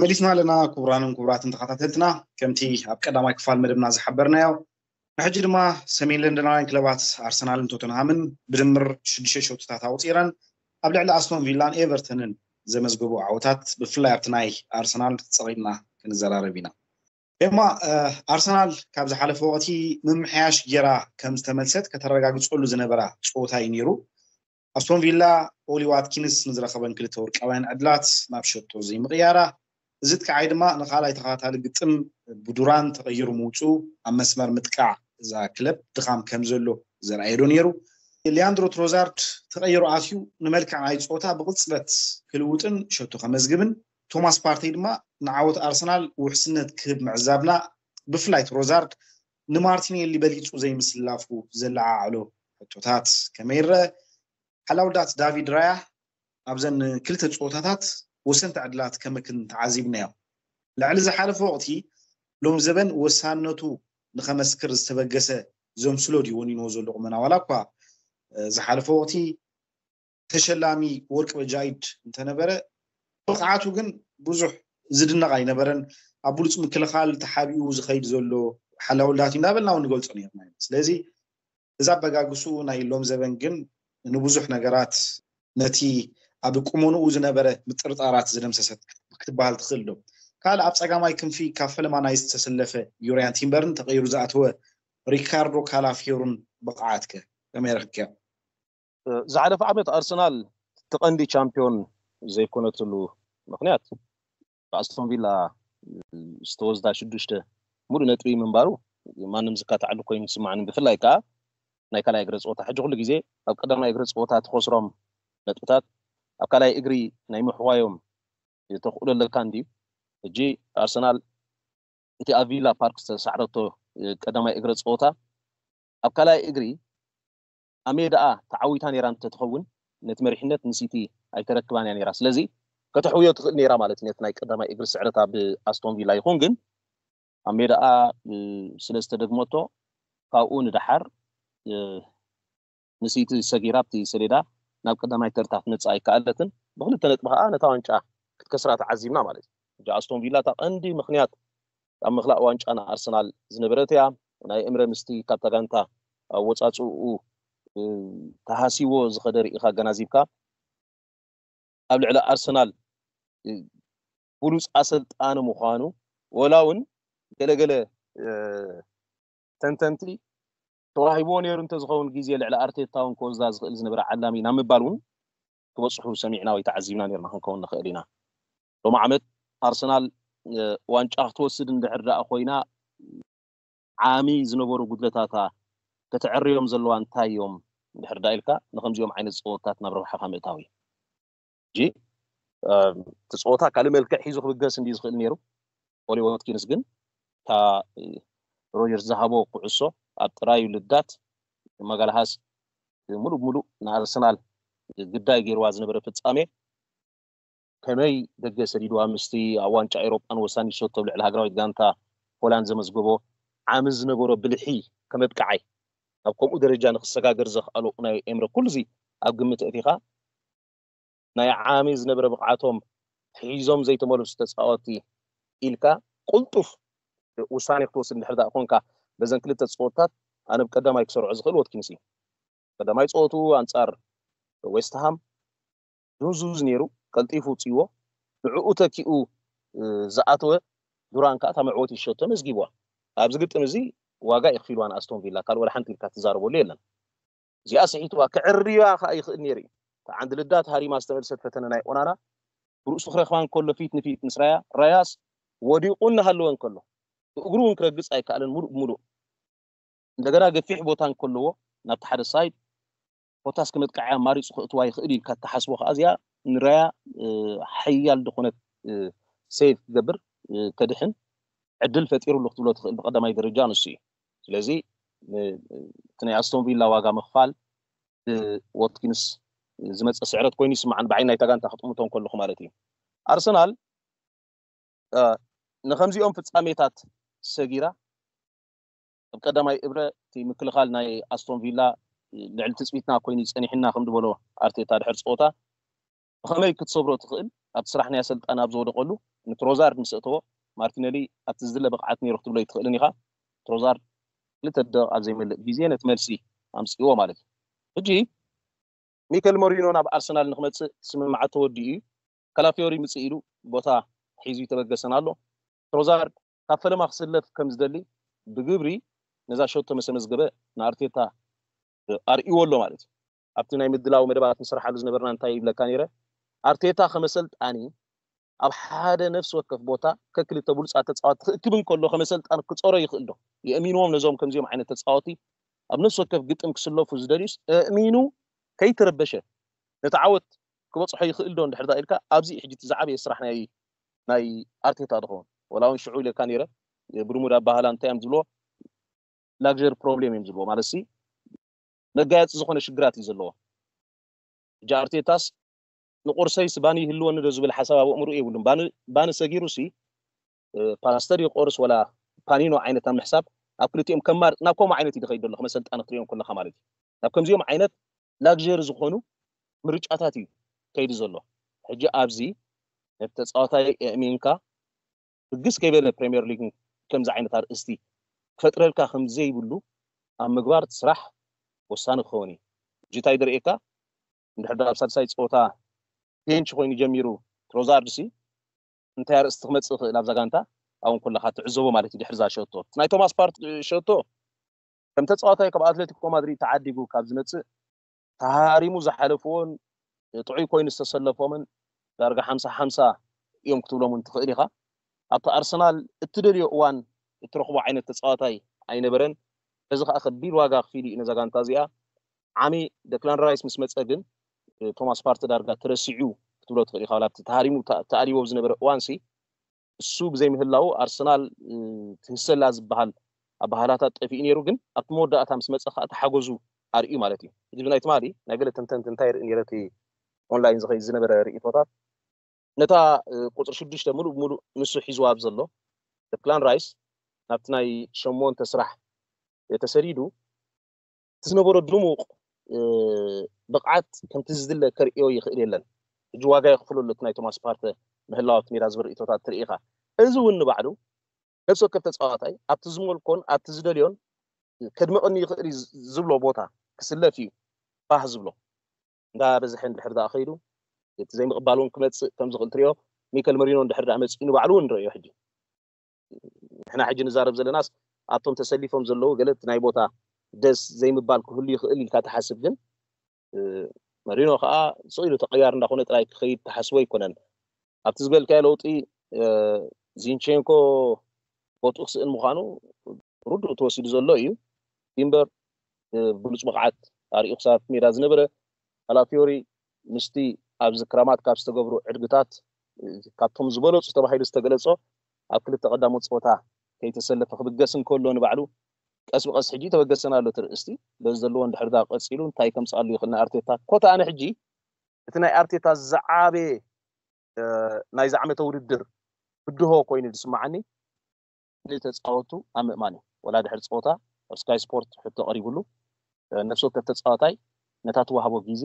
መሊስና ኣለና። ክቡራንን ክቡራትን ተኸታተልትና፣ ከምቲ ኣብ ቀዳማይ ክፋል መደብና ዝሓበርናዮ፣ ንሕጂ ድማ ሰሜን ለንደናውያን ክለባት ኣርሰናልን ቶተንሃምን ብድምር ሽዱሽተ ሸቶታት ኣውፂረን ኣብ ልዕሊ ኣስቶን ቪላን ኤቨርተንን ዘመዝገቡ ዓወታት፣ ብፍላይ ኣብቲ ናይ ኣርሰናል ጸቒጥና ክንዘራረብ ኢና። ኤማ፣ ኣርሰናል ካብ ዝሓለፈ ወቕቲ ምምሕያሽ ጌራ ከም ዝተመልሰት ከተረጋግጸሉ ዝነበራ ጸወታ እዩ ነይሩ። ኣስቶን ቪላ ኦሊ ዋትኪንስ ንዝረኸበን ክልተ ወርቃውያን ዕድላት ናብ ሸቶ ዘይምቕያራ፣ እዚ ጥቃዓይ ድማ ንኻልኣይ ተኸታታሊ ግጥም ብዱራን ተቐይሩ ምውፁ ኣብ መስመር ምጥቃዕ እዛ ክለብ ድኻም ከም ዘሎ ዘርኣየ ዶ ነይሩ? ሊያንድሮ ትሮዛርድ ተቐይሩ ኣትዩ ንመልክዕ ናይ ጸወታ ብቕጽበት ክልውጥን ሸቶ ከመዝግብን፣ ቶማስ ፓርቴይ ድማ ንዓወት ኣርሰናል ውሕስነት ክህብ ምዕዛብና፣ ብፍላይ ትሮዛርድ ንማርቲኔሊ በሊጹ ዘይምስላፉ ዘለዓዕሎ ሕቶታት ከመይ ይረአ? ሓላውዳት ዳቪድ ራያ ኣብዘን ክልተ ጸወታታት ወሰንቲ ዕድላት ከመክን ተዓዚብናዮ። ልዕሊ ዝሓለፈ ወቕቲ ሎም ዘበን ወሳነቱ ንኸመስክር ዝተበገሰ ዘምስሎ ድዩ ወኒንዎ ዘሎ ቁመና? ዋላ እኳ ዝሓለፈ ወቕቲ ተሸላሚ ወርቂ በጃይድ እንተነበረ፣ ብቕዓቱ ግን ብዙሕ ዝድነቕ ኣይነበረን። ኣብ ብሉፅ ምክልኻል ተሓቢኡ ዝኸይድ ዘሎ ሓላውዳት እዩ እንዳበልና እውን ንገልፆ ነርና። ስለዚ እዛ ኣበጋግስኡ ናይ ሎም ዘበን ግን ንብዙሕ ነገራት ነቲ ኣብ ቁመንኡ ዝነበረ ምጥርጣራት ዝደምሰሰት ክትበሃል ትኽእል ዶ? ካልእ ኣብ ጸጋማይ ክንፊ ካብ ፈለማ ናይ ዝተሰለፈ ዩርያን ቲምበርን ተቐይሩ ዝኣተወ ሪካርዶ ካላፊዮሩን ብቕዓትከ ከመይ ረኽብክዮ? ዝሓለፈ ዓመት ኣርሰናል ተቐንዲ ቻምፒዮን ዘይኮነትሉ ምኽንያት ብኣስቶን ቪላ ዝተወስዳ ሽዱሽተ ሙሉእ ነጥቢ ምንባሩ ማንም ዝካትዓሉ ኮይኑ ይስማዕኒ። ብፍላይ ከዓ ናይ ካልኣይ እግሪ ፀወታ፣ ሕጂ ኩሉ ግዜ ኣብ ቀዳማይ እግሪ ፀወታ ትኸስሮም ነጥብታት ኣብ ካልኣይ እግሪ ናይ ምሕዋዮም ተኽእሎ ኣለካ እንድዩ። ሕጂ ኣርሰናል እቲ ኣብ ቪላ ፓርክ ዝተሳዕረቶ ቀዳማይ እግሪ ፀወታ ኣብ ካልኣይ እግሪ ኣብ ሜዳኣ ተዓዊታ ነይራ እንተትኸውን ነቲ መሪሕነት ንሲቲ ኣይተረክባን እያ ነይራ። ስለዚ ከተሕውዮ ትኽእል ነይራ ማለት እዩ ነቲ ናይ ቀዳማይ እግሪ ስዕረታ ብኣስቶን ቪላ። ይኹን ግን ኣብ ሜዳኣ ስለ ዝተደግመቶ ካብኡ ንደሓር ንሲቲ ሰጊራ ኣብቲ ሰሌዳ ናብ ቀዳማይ ተርታ ክትመጽእ ኣይከኣለትን። ብክልተ ነጥቢ ከዓ ነታ ዋንጫ ክትከስራ ተዓዚብና ማለት እዩ። ሕጂ ኣስቶን ቪላ እታ ቀንዲ ምኽንያት ኣብ ምኽላእ ዋንጫ ንኣርሰናል ዝነበረት እያ። ናይ እምረ ምስቲ ካብታ ጋንታ ኣወጻጽኡ ተሃሲዎ ዝኸደ ርኢኻ ኣገናዚብካ ኣብ ልዕሊ ኣርሰናል ብሉፅ ኣሰልጣኒ ምዃኑ ወላ እውን ገለገለ ተንተንቲ ተዋሂብዎ ነይሩ እንተዝኸውን ግዜ ልዕሊ ኣርቴታ እውን ክወስዳ ዝኽእል ዝነበረ ዓላሚ ናብ ምባል እውን ክበፅሑ ሰሚዕና ወይ ተዓዚብና ነርና ክንከውን ንኽእል ኢና። ሎሚ ዓመት ኣርሰናል ዋንጫ ክትወስድ እንድሕር ደኣ ኮይና ዓሚ ዝነበሩ ጉድለታታ ከተዕርዮም ዘለዋ እንታይ እዮም እንድሕር ደኣ ኢልካ ንከምዚኦም ዓይነት ፀወታት ናብ ረብሓኻ ምእታው እዩ። ሕጂ እቲ ፀወታ ካልእ መልክዕ ሒዙ ክብገስ እንድዩ ዝኽእል ነይሩ። ኦሊ ዋትኪንስ ግን እታ ሮጀርስ ዝሃቦ ኩዕሶ ኣብ ጥራዩ ልዳት ማጋልሃስ ሙሉእ ብሙሉእ ንኣርሰናል ግዳይ ገይርዋ ዝነበረ ፍጻሜ ከመይ ደገ ሰዲድዋ ምስቲ ኣብ ዋንጫ ኤሮጳን ወሳኒ ሸቶ ኣብ ልዕሊ ሃገራዊት ጋንታ ሆላንድ ዘመዝገቦ ዓሚ ዝነበሮ ብልሒ ከመብቅዓይ ናብ ከምኡ ደረጃ ንክሰጋገር ዘኽኣሎ ኡናይ ኤምረ ኩሉ እዚ ኣብ ግምት ኣእቲኻ ናይ ዓሚ ዝነበረ ብቕዓቶም ሒዞም ዘይተመለሱ ተፃወቲ ኢልካ ቁልጡፍ ውሳኔ ክትወስድ እንድሕር ደኣ ኮንካ በዘን ክልተ ፀወታት ኣነ ብቀዳማይ ክሰርዖ ዝኽእል ወትኪንስ እዩ። ቀዳማይ ፀወቱ ኣንፃር ዌስትሃም ድንዙዝ ነይሩ፣ ቀልጢፉ ውፅዎ። ንዕኡ ተኪኡ ዝኣተወ ዱራን ከዓ እታ መዕወቲ ሸቶ መዝጊብዋ። ኣብዚ ግጥም እዚ ዋጋ የኽፊልዋ ንኣስቶን ቪላ፣ ካልእ ወላ ሓንቲ ኢልካ ትዛረበሉ የለን። እዚኣ ስሒትዋ ክዕርያ ከዓ ይኽእል ነይሩ እዩ። እታ ዓንዲ ልዳት ሃሪማ ዝተመልሰት ፈተነ ናይ ኦናና ብርእሱ ክረኽባ እንከሎ ፊት ንፊት ምስ ራያ፣ ራያስ ወዲቑ እናሃለወ እንከሎ ብእግሩ እውን ክረግፅ ኣይከኣለን ሙሉእ ብሙሉእ። እንደገና ገፊሕ ቦታ እንከለዎ ናብቲ ሓደ ሳይድ ኮታስ ከመጥቃዕያ ኣማሪፁ ከእትዋ ይኽእል ኢልካ እትሓስቦ ከዓ እዚኣ ንራያ ሓያል ዝኾነት ሴቭ ክገብር ከድሕን ዕድል ፈጢሩሉ ክትብሎ ትኽእል። ብቀዳማይ ደረጃ ንሱ እዩ። ስለዚ እቲ ናይ ኣስቶን ቪላ ዋጋ ምኽፋል ብዎትኪንስ ዝመፀ ስዕረት ኮይኑ ይስምዓን ብዓይኒ ናይታ ጋንታ ክጥምቶ እንከለኹ ማለት እዩ። ኣርሰናል ንከምዚኦም ፍጻሜታት ሰጊራ ኣብ ቀዳማይ እብረ እቲ ምክልኻል ናይ ኣስቶን ቪላ ልዕሊ ትፅቢትና ኮይኑ ጸኒሕና ከም ዝበሎ ኣርቴታ ድሕር ፀወታ ብኸመይ ክትሰብሮ ትኽእል? ኣብቲ ስራሕ ናይ ኣሰልጣኒ ኣብ ዝወደቐሉ ንትሮዛርድ ምስ እተዎ፣ ማርቲነሊ ኣብቲ ዝድለ ብቕዓት ነይሩ ክትብሎ ኣይትኽእልን ኢኻ። ትሮዛርድ ክልተ ደቂቕ ኣብ ዘይመልእ ግዜ ነቲ መልሲ ኣምፅእዎ ማለት እዩ። ሕጂ ሚከል ሞሪኖ ናብ ኣርሰናል ንክመፅእ ስምምዓት ተወዲኡ እዩ። ካላፊዮሪ ምፅእ ኢሉ ቦታ ሒዙ ይተበገሰን ኣሎ። ትሮዛርድ ካብ ፈለማ ክስለፍ ከም ዝደሊ ብግብሪ ነዛ ሸቶ መሰመዝገበ ንኣርቴታ ኣርእዎ ኣሎ ማለት እዩ። ኣብቲ ናይ ምድላው መደባት ንስርሓሉ ዝነበርና እንታይ ይብለካ ነይረ? ኣርቴታ ከመሰልጣኒ ኣብ ሓደ ነፍሲ ወከፍ ቦታ ከክልተ ብሉፃት ተፃወቲ ክእክብ እንከሎ ከመሰልጣኒ ክፀሮ ይኽእል ዶ? የእሚንዎም ነዞም ከምዚኦም ዓይነት ተፃወቲ ኣብ ነፍሲ ወከፍ ግጥም ክስለፉ ዝደልዩስ እእሚኑ ከይተረበሸ ነቲ ዓወት ክበፅሖ ይኽእል ዶ እንድሕር ኢልካ ኣብዚ ሕጂ እቲ ዝዓበየ ስራሕ ናይ ናይ ኣርቴታ ዝኸውን ወላ እውን ሽዑ ኢለካ ነይረ ብልሙድ ኣባህላ እንታይ እዮም ዝብልዎ ላግሪ ፕሮብሌም እዮም ዝብልዎ ማለት ሲ መጋየፂ ዝኾነ ሽግራት እዩ ዘለዎ። ሕጂ ኣርቴታስ ንቁርሰይስ ባኒ ይህልወኒ ዶ ዝብል ሓሳብ ኣብ ኣእምሩ የብሉን። ባኒ ሰጊሩ ሲ ፓስተር ይቆርስ ወላ ፓኒኖ ዓይነት ኣብ ምሕሳብ ኣብ ክልቲኦም ከማር ናብ ከምኡ ዓይነት ይደኸይድ ዘሎ ከመሰልጣን ክትሪኦም ከለካ ማለት እዩ። ናብ ከምዚኦም ዓይነት ላግሪ ዝኾኑ ምርጫታት እዩ ከይዱ ዘሎ። ሕጂ ኣብዚ ነቲ ተፃዋታይ ኣእሚንካ ብግስ ከይበለ ፕሪምየር ሊግ ከምዚ ዓይነት ኣርእስቲ ክፈጥረልካ ከም ዘይብሉ ኣብ ምግባር እቲ ስራሕ ወሳኒ ክኸውን እዩ። ሕጂ እንታይ ዝርእየካ እንድሕር ኣብ ሳልሳይ ፀወታ ቤንች ኮይኑ ጀሚሩ ትሮዛርድ ሲ እንታይ ኣርእስቲ ክመፅእ ይኽእል ኣብዛ ጋንታ ኣብን ከለካ ትዕዘቦ ማለት እዩ። ድሕሪ እዛ ሸቶ ናይ ቶማስ ፓርቲ ሸቶ ከም ተፃዋታይ ካብ ኣትሌቲኮ ማድሪድ ተዓዲጉ ካብ ዝመፅእ ተሃሪሙ ዝሓለፍዎን ጥዑይ ኮይኑ ዝተሰለፎምን ዳርጋ ሓምሳ ሓምሳ እዮም ክትብሎም እውን ትኽእል ኢኻ። ኣብቲ ኣርሰናል እትደልዮ እዋን እትረኽቦ ዓይነት ተፃዋታይ ኣይነበረን። በዚ ከዓ ከቢድ ዋጋ ክፊል እዩ ነዛ ጋንታ እዚኣ። ዓሚ ደክላን ራይስ ምስ መፀ ግን ቶማስ ፓርቲ ዳርጋ ተረሲዑ ክትብሎ ትኽእል ኢኻ። ኣብቲ ተሃሪሙ ተኣሊዎ ዝነበረ እዋን ሲ እሱ ብዘይምህላው ኣርሰናል ትህሰላ ዝበሃል ኣባህላታት ጠፊኡ ነይሩ፣ ግን ኣብቲ መወዳእታ ምስ መፀ ከዓ ተሓጎዙ ኣርእዩ ማለት እዩ። እዚ ብናይ ትማሊ ናይ ገለ ተንተንቲ እንታይ ርኢ ነይረ እቲ ኦንላይን ዝኸይድ ዝነበረ ርእቶታት ነታ ቁፅሪ ሽዱሽተ ሙሉእ ብሙሉእ ንሱ ሒዝዋ ኣብ ዘሎ ደክላን ራይስ ናብቲ ናይ ሸሞንተ ስራሕ ተሰዲዱ እቲ ዝነበሮ ድሙቕ ብቕዓት ከምቲ ዝድለ ከርእዮ ይኽእል የለን። ሕጂ ዋጋ የኽፍሎ ኣሎ እቲ ናይ ቶማስ ፓርተ ምህላው ኣብቲ ሜዳ ዝብል ርእቶታት ትርኢ ኢኻ። እዚ እውን ንባዕሉ ነፍሲ ወከፍ ተፃዋታይ ኣብቲ ዝመልኮን ኣብቲ ዝደልዮን ከድምቐኒ ይኽእል እዩ ዝብሎ ቦታ ክስለፍ እዩ ባህ ዝብሎ። እንዳበዝሐ እንድሕር ደኣ ከይዱ እቲ ዘይምቕባል እውን ክመፅእ ከም ዝኽእል ትሪኦ። ሚከል መሪኖ እንድሕር ደኣ መፂኡ ንባዕሉ እውን ንረእዮ ሕጂ ንሕና ሕጂ ንዛረብ ዘለናስ ኣብቶም ተሰሊፎም ዘለዉ ገለ እቲ ናይ ቦታ ደስ ዘይምባል ክህሉ ይኽእል ኢልካ ትሓስብ ግን መሪኖ ከዓ ስቕ ኢሉ ተቐያር እንዳኾነ ጥራይ ክኸይድ ትሓስቦ ኣይኮነን ኣብቲ ዝበልካዮ ለውጢ ዚንቼንኮ ቦትኡ ክስእን ምዃኑ ርዱእ ተወሲዱ ዘሎ እዩ ቲምበር ብሉፅ ብቕዓት ኣርእዩ ክሳብ ሜዳ ዝነበረ ካላፊዮሪ ምስቲ ኣብዚ ክረማት ካብ ዝተገብሩ ዕድግታት ካብቶም ዝበለፁ ተባሂሉ ዝተገለፆ ኣብ ክልተ ቀዳሞት ፀወታ ከይተሰለፈ ክብገስ እንከሎ ንባዕሉ ቀስ ብቀስ ሕጂ ተበገሰና ኣሎ ትርእስቲ በዚ ዘለዎ እንድሕር ዳ ቀፂሉ እንታይ ከምፅኣሉ ይኽእል ንኣርቴታ ኮታ ኣነ ሕጂ እቲ ናይ ኣርቴታ ዝዓበየ ናይዚ ዓመተ ውድድር ብድሆ ኮይኑ ዝስማዓኒ ንተፃወቱ ኣብ ምእማን እዩ ወላ ድሕሪ ፀወታ ኣብ ስካይ ስፖርት ሕቶ ቀሪቡሉ ነፍሲ ወከፍ ተፃዋታይ ነታ ትዋህቦ ግዜ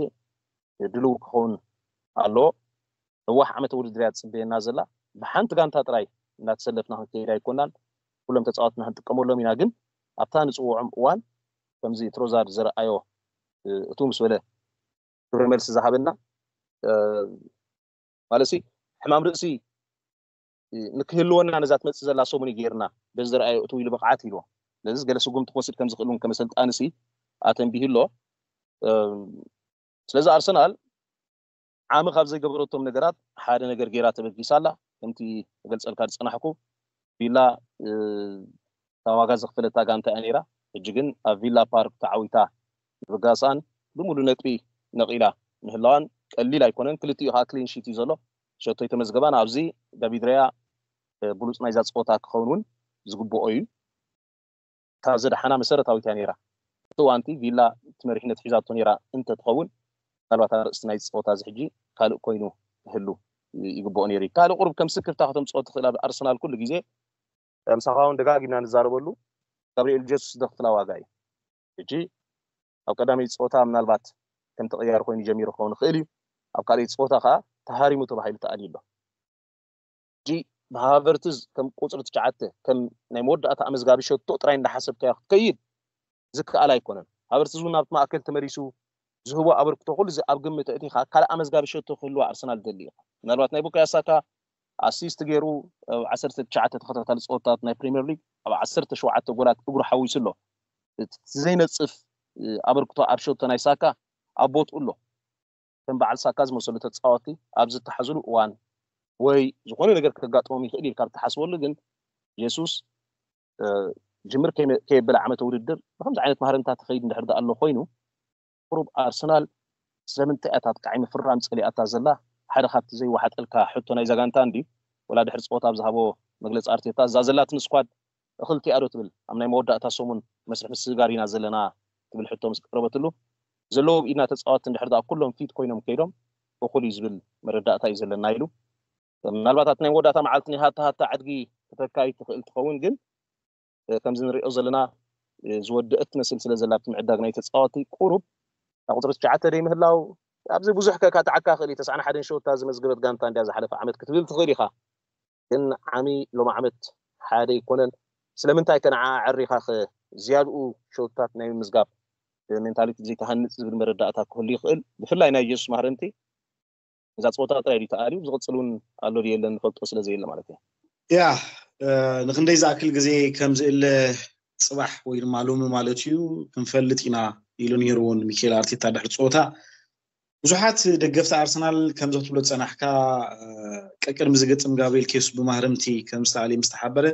ድልው ክኸውን ኣለዎ ነዋሕ ዓመተ ውድድር እያ ትፅበየና ዘላ ብሓንቲ ጋንታ ጥራይ እናተሰለፍና ክንከይድ ኣይኮናን ኩሎም ተፃወትና ክንጥቀመሎም ኢና ግን ኣብታ ንፅውዖም እዋን ከምዚ ትሮዛርድ ዘረኣዮ እቱ ምስ በለ ግብረ መልሲ ዝሃበና ማለት ሕማም ርእሲ ንክህልወና ነዛ ትመፅእ ዘላ ሰሙን ገይርና በዚ ዝረኣዮ እቱ ኢሉ ብቕዓት ኢልዎ ስለዚ ገለ ስጉምቲ ክወስድ ከም ዝኽእል እውን ከመሰልጣኒ ሲ ኣተንቢህ ኣሎ ስለዚ ኣርሰናል ዓሚ ካብ ዘይገበረቶም ነገራት ሓደ ነገር ገይራ ተበጊሳ ኣላ ከምቲ ክገልፀልካ ዝፀናሕኩ ቪላ እታ ዋጋ ዘኽፈለታ ጋንታ እያ ነይራ። ሕጂ ግን ኣብ ቪላ ፓርክ ተዓዊታ ምብጋስኣን ብምሉእ ነጥቢ ነቒላ ምህላዋን ቀሊል ኣይኮነን። ክልቲኡ ከዓ ክሊን ሺት እዩ ዘሎ። ሸቶ ኣይተመዝገባን። ኣብዚ ዳቪድ ራያ ብሉፅ ናይዛ ፀወታ ክኸውን እውን ዝግብኦ እዩ። እታ ዘድሓና መሰረታዊት እያ ነይራ። እቲ እዋንቲ ቪላ እቲ መሪሕነት ሒዛቶ ነይራ እንተትኸውን ምናልባት ኣርእስቲ ናይዚ ፀወታ እዚ ሕጂ ካልእ ኮይኑ ክህሉ ይግብኦ ነይሩ እዩ። ካልእ ቁሩብ ከም ስክፍታ ከተምፅኦ ትኽእል ኣብ ኣርሰናል ኩሉ ግዜ ምሳኻ እውን ደጋጊምና ንዛረበሉ ጋብርኤል ጀሱስ ዘኽፍላ ዋጋ እዩ። ሕጂ ኣብ ቀዳመይ ፀወታ ምናልባት ከም ተቐያሪ ኮይኑ ጀሚሩ ክኸውን ይኽእል እዩ። ኣብ ካልኣይ ፀወታ ከዓ ተሃሪሙ ተባሂሉ ተኣልዩ ኣሎ። ሕጂ ብሃቨርትዝ ከም ቁፅሪ ትሽዓተ ከም ናይ መወዳእታ ኣመዝጋቢ ሸቶ ጥራይ እንዳሓሰብካዮ ክትከይድ ዝከኣል ኣይኮነን። ሃቨርትዝ እውን ናብቲ ማእከል ተመሊሱ ዝህቦ ኣበርክቶ ኩሉ እዚ ኣብ ግምት ኣእቲኻ ካልእ ኣመዝጋቢ ሸቶ ክህልዎ ኣርሰናል ደሊ ኢኻ። ምናልባት ናይ ቡካዮ ሳካ ኣሲስት ገይሩ ኣብ ዓሰርተ ትሽዓተ ተኸታታሊ ፀወታት ናይ ፕሪምየር ሊግ ኣብ ዓሰርተ ሸውዓተ ጎላት እግሩ ሓዊሱ ኣሎ። እቲ ዘይነፅፍ ኣበርክቶ ኣብ ሸቶ ናይ ሳካ ኣብ ቦትኡ ኣሎ። ከም በዓል ሳካ ዝመሰሉ ተፃወቲ ኣብ ዝተሓዝሉ እዋን ወይ ዝኾነ ነገር ከጋጥሞም ይኽእል ኢልካ ብትሓስበሉ ግን ጀሱስ ጅምር ከየበለ ዓመተ ውድድር ብከምዚ ዓይነት ማህረምታ ትኸይድ እንድሕር ደኣ ኣሎ ኮይኑ ቁሩብ ኣርሰናል ስለምንታይ እያ እታ ኣጥቃዒ ምፍራም ፀሊኣታ ዘላ ሓደ ካብቲ ዘይወሓጠልካ ሕቶ ናይዛ ጋንታ እንድዩ ወላ ድሕሪ ፀወታ ኣብ ዝሃቦ መግለፂ ኣርቴታ እዛ ዘላትኒ ስኳድ እኽልቲኣ ዶ ትብል ኣብ ናይ መወዳእታ ሰሙን መስርሕ ምስግጋር ኢና ዘለና ትብል ሕቶ ምስ ቀረበትሉ ዘለዎም ኢድና ተፃወትቲ እንድሕር ደኣ ኩሎም ፊት ኮይኖም ከይዶም እኹል እዩ ዝብል መረዳእታ እዩ ዘለና ኢሉ። ምናልባት ኣብቲ ናይ መወዳእታ መዓልቲ ናይ ሃታ ሃታ ዕድጊ ክተካይ ትኽእል ትኸውን ግን ከምዚ ንሪኦ ዘለና ዝወደአት ትመስል ስለ ዘላ ኣብቲ ምዕዳግ ናይ ተፃወቲ ቁሩብ ናብ ቁፅሪ ትሽዓተ ደይ ምህላው ኣብዚ ብዙሕ ከካትዓካ ክእል እዩ ተስዓን ሓደን ሸወታ ዝመዝገበት ጋንታ እንድያ ዝሓለፈ ዓመት ክትብል ትኽእል ኢኻ ግን ዓሚ ሎም ዓመት ሓደ ኣይኮነን ስለምንታይ ከ ንዓ ኣዕሪኻ ከ ዝያድኡ ሸወታት ናይ ምምዝጋብ ሜንታሊቲ ዘይተሃንፅ ዝብል መረዳእታ ክህሉ ይኽእል ብፍላይ ናይ ጀሱስ ማህረምቲ እዛ ፀወታ ጥራይ ድዩ ተኣልዩ ዝቕፅል እውን ኣሎ ድዩ የለን ንፈልጦ ስለ ዘየለ ማለት እዩ ያ ንክንደይ ዝኣክል ግዜ ከም ዝእለ ፅባሕ ወይ ድማ ሎሚ ማለት እዩ ክንፈልጥ ኢና ኢሉ ነይሩ እውን ሚካኤል ኣርቴታ ድሕሪ ፀወታ ብዙሓት ደገፍቲ ኣርሰናል ከምዚ ክትብሎ ዝፀናሕካ ቀቅድሚ ዝግጥም ጋብሪኤል ኬሱስ ብማህረምቲ ከም ዝተኣልየ ምስ ተሓበረ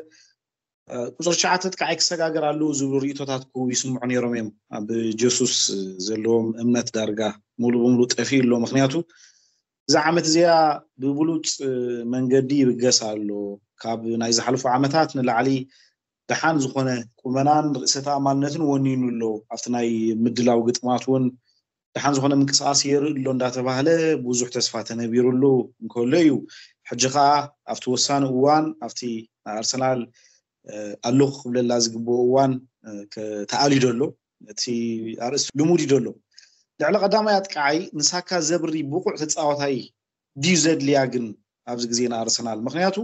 ቁፅሪ ትሽዓተ ጥቃዓይ ክሰጋገር ኣለዎ ዝብሉ ርእቶታት ክህቡ ይስምዑ ነይሮም እዮም ኣብ ጀሱስ ዘለዎም እምነት ዳርጋ ሙሉ ብሙሉ ጠፊኡ ኣሎ ምክንያቱ እዛ ዓመት እዚኣ ብብሉፅ መንገዲ ይብገስ ኣሎ ካብ ናይ ዝሓለፉ ዓመታት ንላዕሊ ደሓን ዝኾነ ቁመናን ርእሰ ተኣማንነትን ወኒኑ ኣሎ ኣብቲ ናይ ምድላው ግጥማት እውን ደሓን ዝኾነ ምንቅስቃስ የርኢ ኣሎ እንዳተባህለ ብዙሕ ተስፋ ተነቢሩሉ እንከሎ እዩ ሕጂ ከዓ ኣብቲ ወሳኒ እዋን ኣብቲ ኣርሰናል ኣለኹ ክብለላ ዝግብኦ እዋን ተኣልዩ ደሎ እቲ ኣርእስቲ ልሙድ እዩ ደሎ ልዕሊ ቀዳማይ ኣጥቃዓይ ንሳካ ዘብሪ ብቑዕ ተፃወታይ ድዩ ዘድልያ ግን ኣብዚ ግዜ ንኣርሰናል ምክንያቱ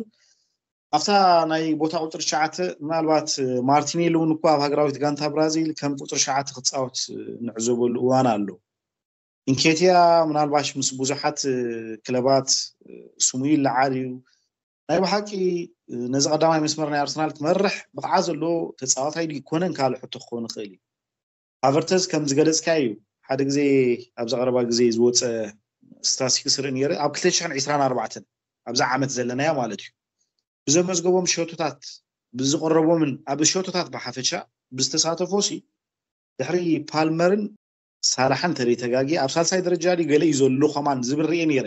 ኣብታ ናይ ቦታ ቁፅሪ ትሽዓተ ምናልባት ማርቲኔሊ እውን እኳ ኣብ ሃገራዊት ጋንታ ብራዚል ከም ቁፅሪ ትሽዓተ ክፃወት ንዕዘበሉ እዋን ኣሎ ኢንኬትያ ምናልባሽ ምስ ብዙሓት ክለባት ስሙ ይለዓል እዩ ናይ ብሓቂ ነዚ ቀዳማይ መስመር ናይ ኣርሰናል ክመርሕ ብቕዓ ዘሎ ተፃዋታይ ድዩ ይኮነን ካልእ ሕቶ ክኸውን ይኽእል እዩ ሃቨርተዝ ከም ዝገለፅካ እዩ ሓደ ግዜ ኣብዚ ቀረባ ግዜ ዝወፀ ስታስቲክስ ርኢ ነይረ ኣብ ክልተ ሽሕን ዕስራን ኣርባዕተን ኣብዛ ዓመት ዘለናያ ማለት እዩ ብዘመዝገቦም ሸቶታት ብዝቀረቦምን ኣብ ሸቶታት ብሓፈሻ ብዝተሳተፎ ሲ ድሕሪ ፓልመርን ሳላሕን ተደይ ተጋጊ ኣብ ሳልሳይ ደረጃ ድዩ ገለ እዩ ዘሎ ከማን ዝብል ርኤ ነይረ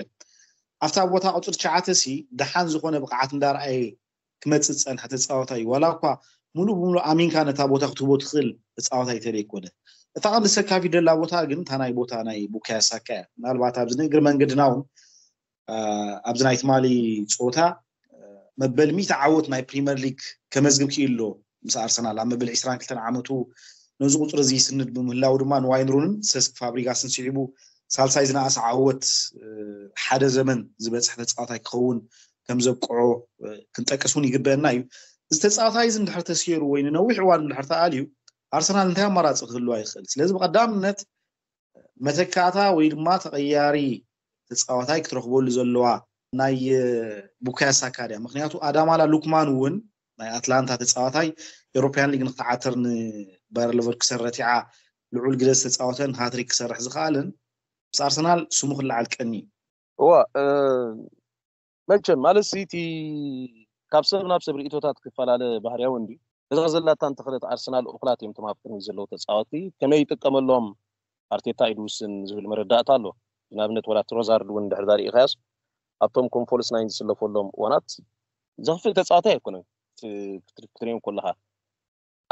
ኣብታ ቦታ ቁፅሪ ትሽዓተ ሲ ደሓን ዝኾነ ብቕዓት እንዳርኣየ ክመፅእ ዝፀንሐ ተፃወታይ እዩ ዋላ እኳ ሙሉእ ብሙሉእ ኣሚንካ ነታ ቦታ ክትህቦ ትኽእል ተፃወታይ ተደይ ኮነ እታ ቀንዲ ሰካፊ ደላ ቦታ ግን እታ ናይ ቦታ ናይ ቡካዮ ሳካ እያ ምናልባት ኣብዚ ንእግሪ መንገድና እውን ኣብዚ ናይ ትማሊ ፀወታ መበል ሚእቲ ዓወት ናይ ፕሪመር ሊግ ከመዝግብ ክኢሉ ኣሎ ምስ ኣርሰናል ኣብ መበል ዕስራን ክልተን ዓመቱ ነዚ ቁፅሪ እዚ ይስንድ ብምህላው ድማ ንዋይን ሩንን ሰስክ ፋብሪጋስን ስዒቡ ሳልሳይ ዝነኣሰ ዓወት ሓደ ዘመን ዝበፅሕ ተፃዋታይ ክኸውን ከም ዘብቅዖ ክንጠቅስ እውን ይግበአና እዩ እዚ ተፃዋታይ እዚ እንድሕር ተስየሩ ወይ ንነዊሕ እዋን እንድሕር ተኣልዩ ኣርሰናል እንታይ ኣማራፂ ክህልዋ ይኽእል ስለዚ ብቀዳምነት መተካእታ ወይ ድማ ተቐያሪ ተፃዋታይ ክትረኽበሉ ዘለዋ ናይ ቡካዮ ሳካ ድያ ምክንያቱ ኣዳማላ ሉክማን እውን ናይ ኣትላንታ ተፃዋታይ ኤሮፓያን ሊግ ንክትዓተር ንባየር ለቨርኩሰን ረቲዓ ልዑል ግደ ዝተፃወተን ሃትሪክ ክሰርሕ ዝኽኣልን ምስ ኣርሰናል ስሙ ክለዓል ቀኒ እዋ መቸም ማለት እቲ ካብ ሰብ ናብ ሰብ ርእቶታት ክፈላለ ባህርያዊ እንዲ እዛ ዘላታ እንተኽለት ኣርሰናል እኹላት እዮም ተማፍቅኒ ዘለዉ ተፃወቲ ከመይ ይጥቀመሎም ኣርቴታ እዩ ዝውስን ዝብል መረዳእታ ኣሎ ንኣብነት ወላ ትሮዛርድ እውን ድሕር ዳሪኢኻያስ ኣብቶም ኮንፎልስ ናይን ዝስለፈሎም እዋናት ዘኽፍእ ተፃዋታይ ኣይኮነን ክትሪኦም ከለኻ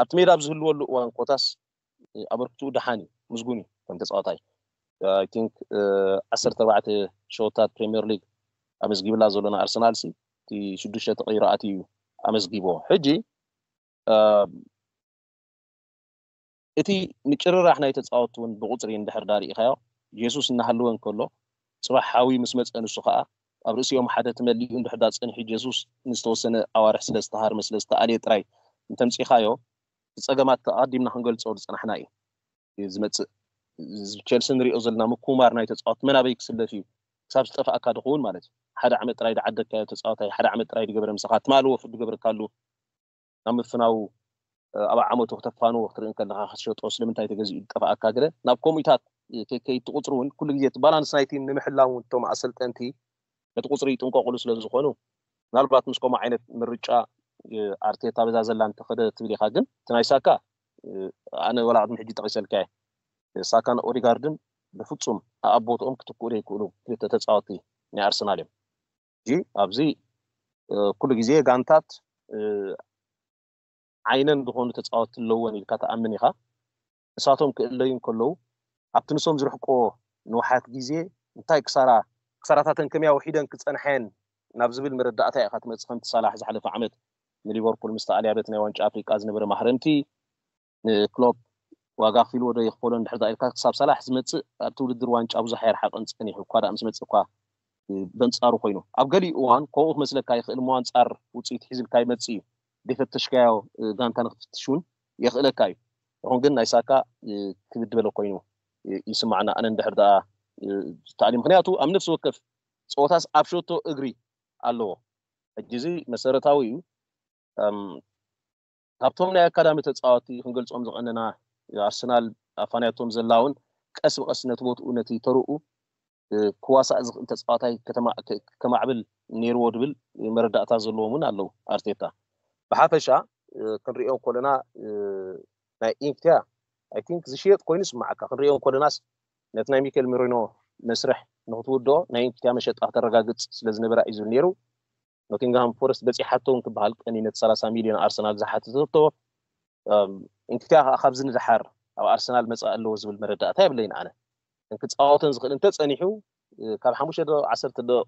ኣብቲ ሜዳ ኣብ ዝህልወሉ እዋን ኮታስ ኣበርክትኡ ደሓን እዩ ምስጉን እዩ ከም ተፃዋታይ I think ዓሰርተ ኣርባዕተ ሸወታት ፕሪምየር ሊግ ኣመዝጊብላ ዘሎ ንኣርሰናል ሲ እቲ ሽዱሽተ ተቀይሩ ኣትዩ እዩ ኣመዝጊብዎ ሕጂ እቲ ምጭርራሕ ናይ ተፃወቲ እውን ብቁፅሪ እንድሕር ዳርኢኻዮ ጀሱስ እናሃለወ እንከሎ ፅባሕ ሓዊ ምስ መፀ ንሱ ከዓ ኣብ ርእሲኦም ሓደ ተመሊኡ እንድሕር ዳ ጸኒሑ ጀሱስ ንዝተወሰነ ኣዋርሕ ስለ ዝተሃርመ ስለ ዝተኣልየ ጥራይ እንተምጺኻዮ፣ እቲ ጸገማት ኣቐዲምና ክንገልጾ ዝጸናሕና እዩ ዝመጽእ። ቸልሲ ንሪኦ ዘለና ምኩማር ናይ ተጻወት መናበይ ክስለፍ እዩ ክሳብ ዝጠፍኣካ ድኸውን ማለት እዩ። ሓደ ዓመት ጥራይ ድዓደግካዮ ተጻዋታይ፣ ሓደ ዓመት ጥራይ ድገበረ ምሳኻ፣ ትማሊ ወፍሪ ድገበርካሉ፣ ናብ ምፍናው ኣብ ዓመቱ ክተፋንዎ ክትርኢ ከለኻ ክትሸጦ ስለምንታይ ተገዚኡ ዝጠፍኣካ ገለ ናብ ከምኡታት ከይትቁፅሩ እውን ኩሉ ግዜ እቲ ባላንስ ናይ ቲም ንምሕላው እውን እቶም ኣሰልጠንቲ ነቲ ቁፅሪ ይጥንቀቁሉ ስለ ዝኾኑ ምናልባት ምስ ከምኡ ዓይነት ምርጫ ኣርቴታ በዛ ዘላ እንተኸደ ትብል ኢኻ። ግን እቲ ናይ ሳካ ኣነ ወላ ቅድሚ ሕጂ ጠቂሰልካ እየ። ሳካን ኦዲጋርድን ብፍፁም ኣብ ቦትኦም ክትክኡ ዘይክእሉ ክልተ ተፃወቲ ናይ ኣርሰናል እዮም። ሕጂ ኣብዚ ኩሉ ግዜ ጋንታት ዓይነን ዝኾኑ ተፃወትቲ ኣለዎን ኢልካ ትኣምን ኢኻ። ንሳቶም ክእለዩ እንከለዉ ኣብቲ ንሶም ዝርሕቆ ንውሓት ግዜ እንታይ ክሳራ ክሳራታተን ከመይ ኣውሒደን ክፀንሐን ናብ ዝብል መረዳእታ ኢኻ ትመፅእ። ከምቲ ሳላሕ ዝሓለፈ ዓመት ንሊቨርፑል ምስ ተኣልያ በቲ ናይ ዋንጫ ኣፍሪቃ ዝነበረ ማህረምቲ ንክሎፕ ዋጋ ክፊልዎ ዶ ይኽፈሎ እንድሕር ኢልካ ክሳብ ሳላሕ ዝመፅእ ኣብቲ ውድድር ዋንጫ ብዙሕ ኣይረሓቐን ፀኒሑ እኳ ደኣ ምስ መፅእ እኳ በንፃሩ ኮይኑ ኣብ ገሊኡ እዋን ከምኡ ክመስለካ ይኽእል እሞ ኣንፃር ውፅኢት ሒዝልካ ይመፅእ እዩ። ደይፈተሽካዮ ጋንታ ንክትፍትሽ እውን የኽእለካ እዩ። ይኹን ግን ናይ ሳካ ክብድ በለ ኮይኑ ይስማዕና ኣነ እንድሕር ደኣ ተኣልዩ ምክንያቱ ኣብ ነፍሲ ወከፍ ፀወታስ ኣብ ሸቶ እግሪ ኣለዎ። ሕጂ እዚ መሰረታዊ እዩ። ካብቶም ናይ ኣካዳሚ ተፃወቲ ክንገልፆም ዝቐነና ኣርሰናል ኣፋንያቶም ዘላ እውን ቀስ ብቀስ ነቲ ቦትኡ ነቲ ተርኡ ክዋሳእ ዝኽእል ተፃዋታይ ከማዕብል ነይርዎ ድብል መረዳእታ ዘለዎም እውን ኣለዉ። ኣርቴታ ብሓፈሻ ክንሪኦ ከለና ናይ ኢንክትያ ኣይ ቲንክ ዝሽየጥ ኮይኑ ስማዓካ ክንሪኦ ከለናስ ነቲ ናይ ሚኬል ሜሪኖ መስርሕ ንክትውድኦ ናይ ኢንክትያ መሸጣ ከተረጋግፅ ስለዝነበራ እዩ ዝብል ነይሩ። ኖቲንግሃም ፎረስት በፂሓቶ እውን ክበሃል ቀኒ ነቲ ሰላሳ ሚልዮን ኣርሰናል ዝሓተተቶ እንክትያ ከዓ ካብዚ ንደሓር ኣብ ኣርሰናል መፃእ ኣለዎ ዝብል መረዳእታ የብለይን ኣነ። እንክፃወተን ዝኽእል እንተፀኒሑ ካብ ሓሙሽተ ደቂቕ ዓሰርተ ደቂቕ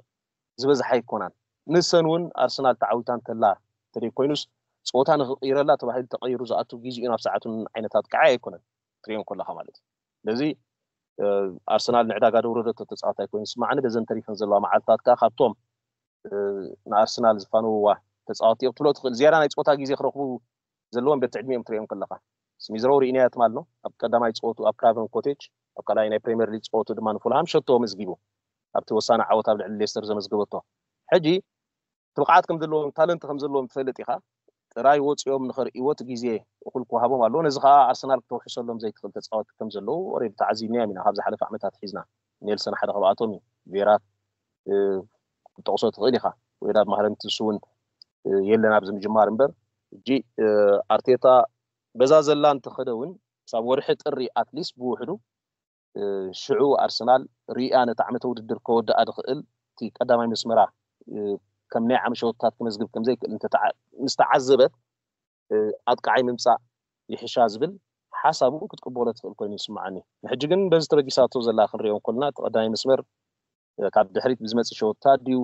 ዝበዝሓ ኣይኮናን። ንሰን እውን ኣርሰናል ተዓዊታ እንተላ እንተደይ ኮይኑስ ፀወታ ንክቕይረላ ተባሂሉ ተቐይሩ ዝኣቱ ግዜኡ ናብ ሰዓቱን ዓይነት ኣጥቃዓይ ኣይኮነን ትሪኦ ከለኻ ማለት እዩ። ስለዚ ኣርሰናል ንዕዳጋ ደውረደቶ ተፃዋታይ ኮይኑ ስማዕኒ በዘን ተሪፈን ዘለዋ መዓልታት ከዓ ካብቶም ንኣርሰናል ዝፋነውዋ ተፃወቲ እዮም ክትብሎ ትኽእል። ዝያዳ ናይ ፀወታ ግዜ ክረኽቡ ዘለዎም በቲ ዕድሚኦም ትሪኦም ከለኻ ስሚዝሮው ርኢናዮ ትማል ነው ኣብ ቀዳማይ ፀወቱ ኣብ ክራቨን ኮቴጅ ኣብ ካልኣይ ናይ ፕሪምየር ሊግ ፀወቱ ድማ ንፉልሃም ሸቶ መዝጊቡ ኣብቲ ወሳኒ ዓወት ኣብ ልዕሊ ሌስተር ዘመዝገበቶ። ሕጂ እቲ ብቕዓት ከም ዘለዎም ታለንት ከም ዘለዎም ትፈልጥ ኢኻ። ጥራይ ወፂኦም ንኸርእይዎ እቲ ግዜ እኹል ክወሃቦም ኣለዎ። ነዚ ከዓ ኣርሰናል ክተውሕሰሎም ዘይትኽእል ተፃወቲ ከም ዘለዉ ኦሬዲ ተዓዚብናዮም ኢና ካብ ዝሓለፈ ዓመታት ሒዝና። ኔልሰን ሓደ ካብኣቶም እዩ። ቬራ ክትጠቕሶ ትኽእል ኢኻ። ወይ ናብ ማህረምቲ ንሱ እውን የለን ኣብዚ ምጅማር እምበር ሕጂ ኣርቴታ በዛ ዘላ እንተኸደ እውን ክሳብ ወርሒ ጥሪ ኣትሊስት ብውሕዱ ሽዑ ኣርሰናል ሪኣ ነቲ ዓመተ ውድድር ከወድኣ ዝኽእል እቲ ቀዳማይ መስመራ ከም ናይ ዓሚ ሸወታት ክመዝግብ ከምዘይክእል ምስ ተዓዘበት ኣጥቃዓይ ምምፃእ ይሕሻ ዝብል ሓሳብ እውን ክትቅበሎ ትኽእል ኮይኑ ይስምዓኒ። ንሕጂ ግን በዚ ተበጊሳቶ ዘላ ክንሪኦ እንኮልና እቲ ቀዳማይ መስመር ካብ ድሕሪት ብዝመፅእ ሸወታት ድዩ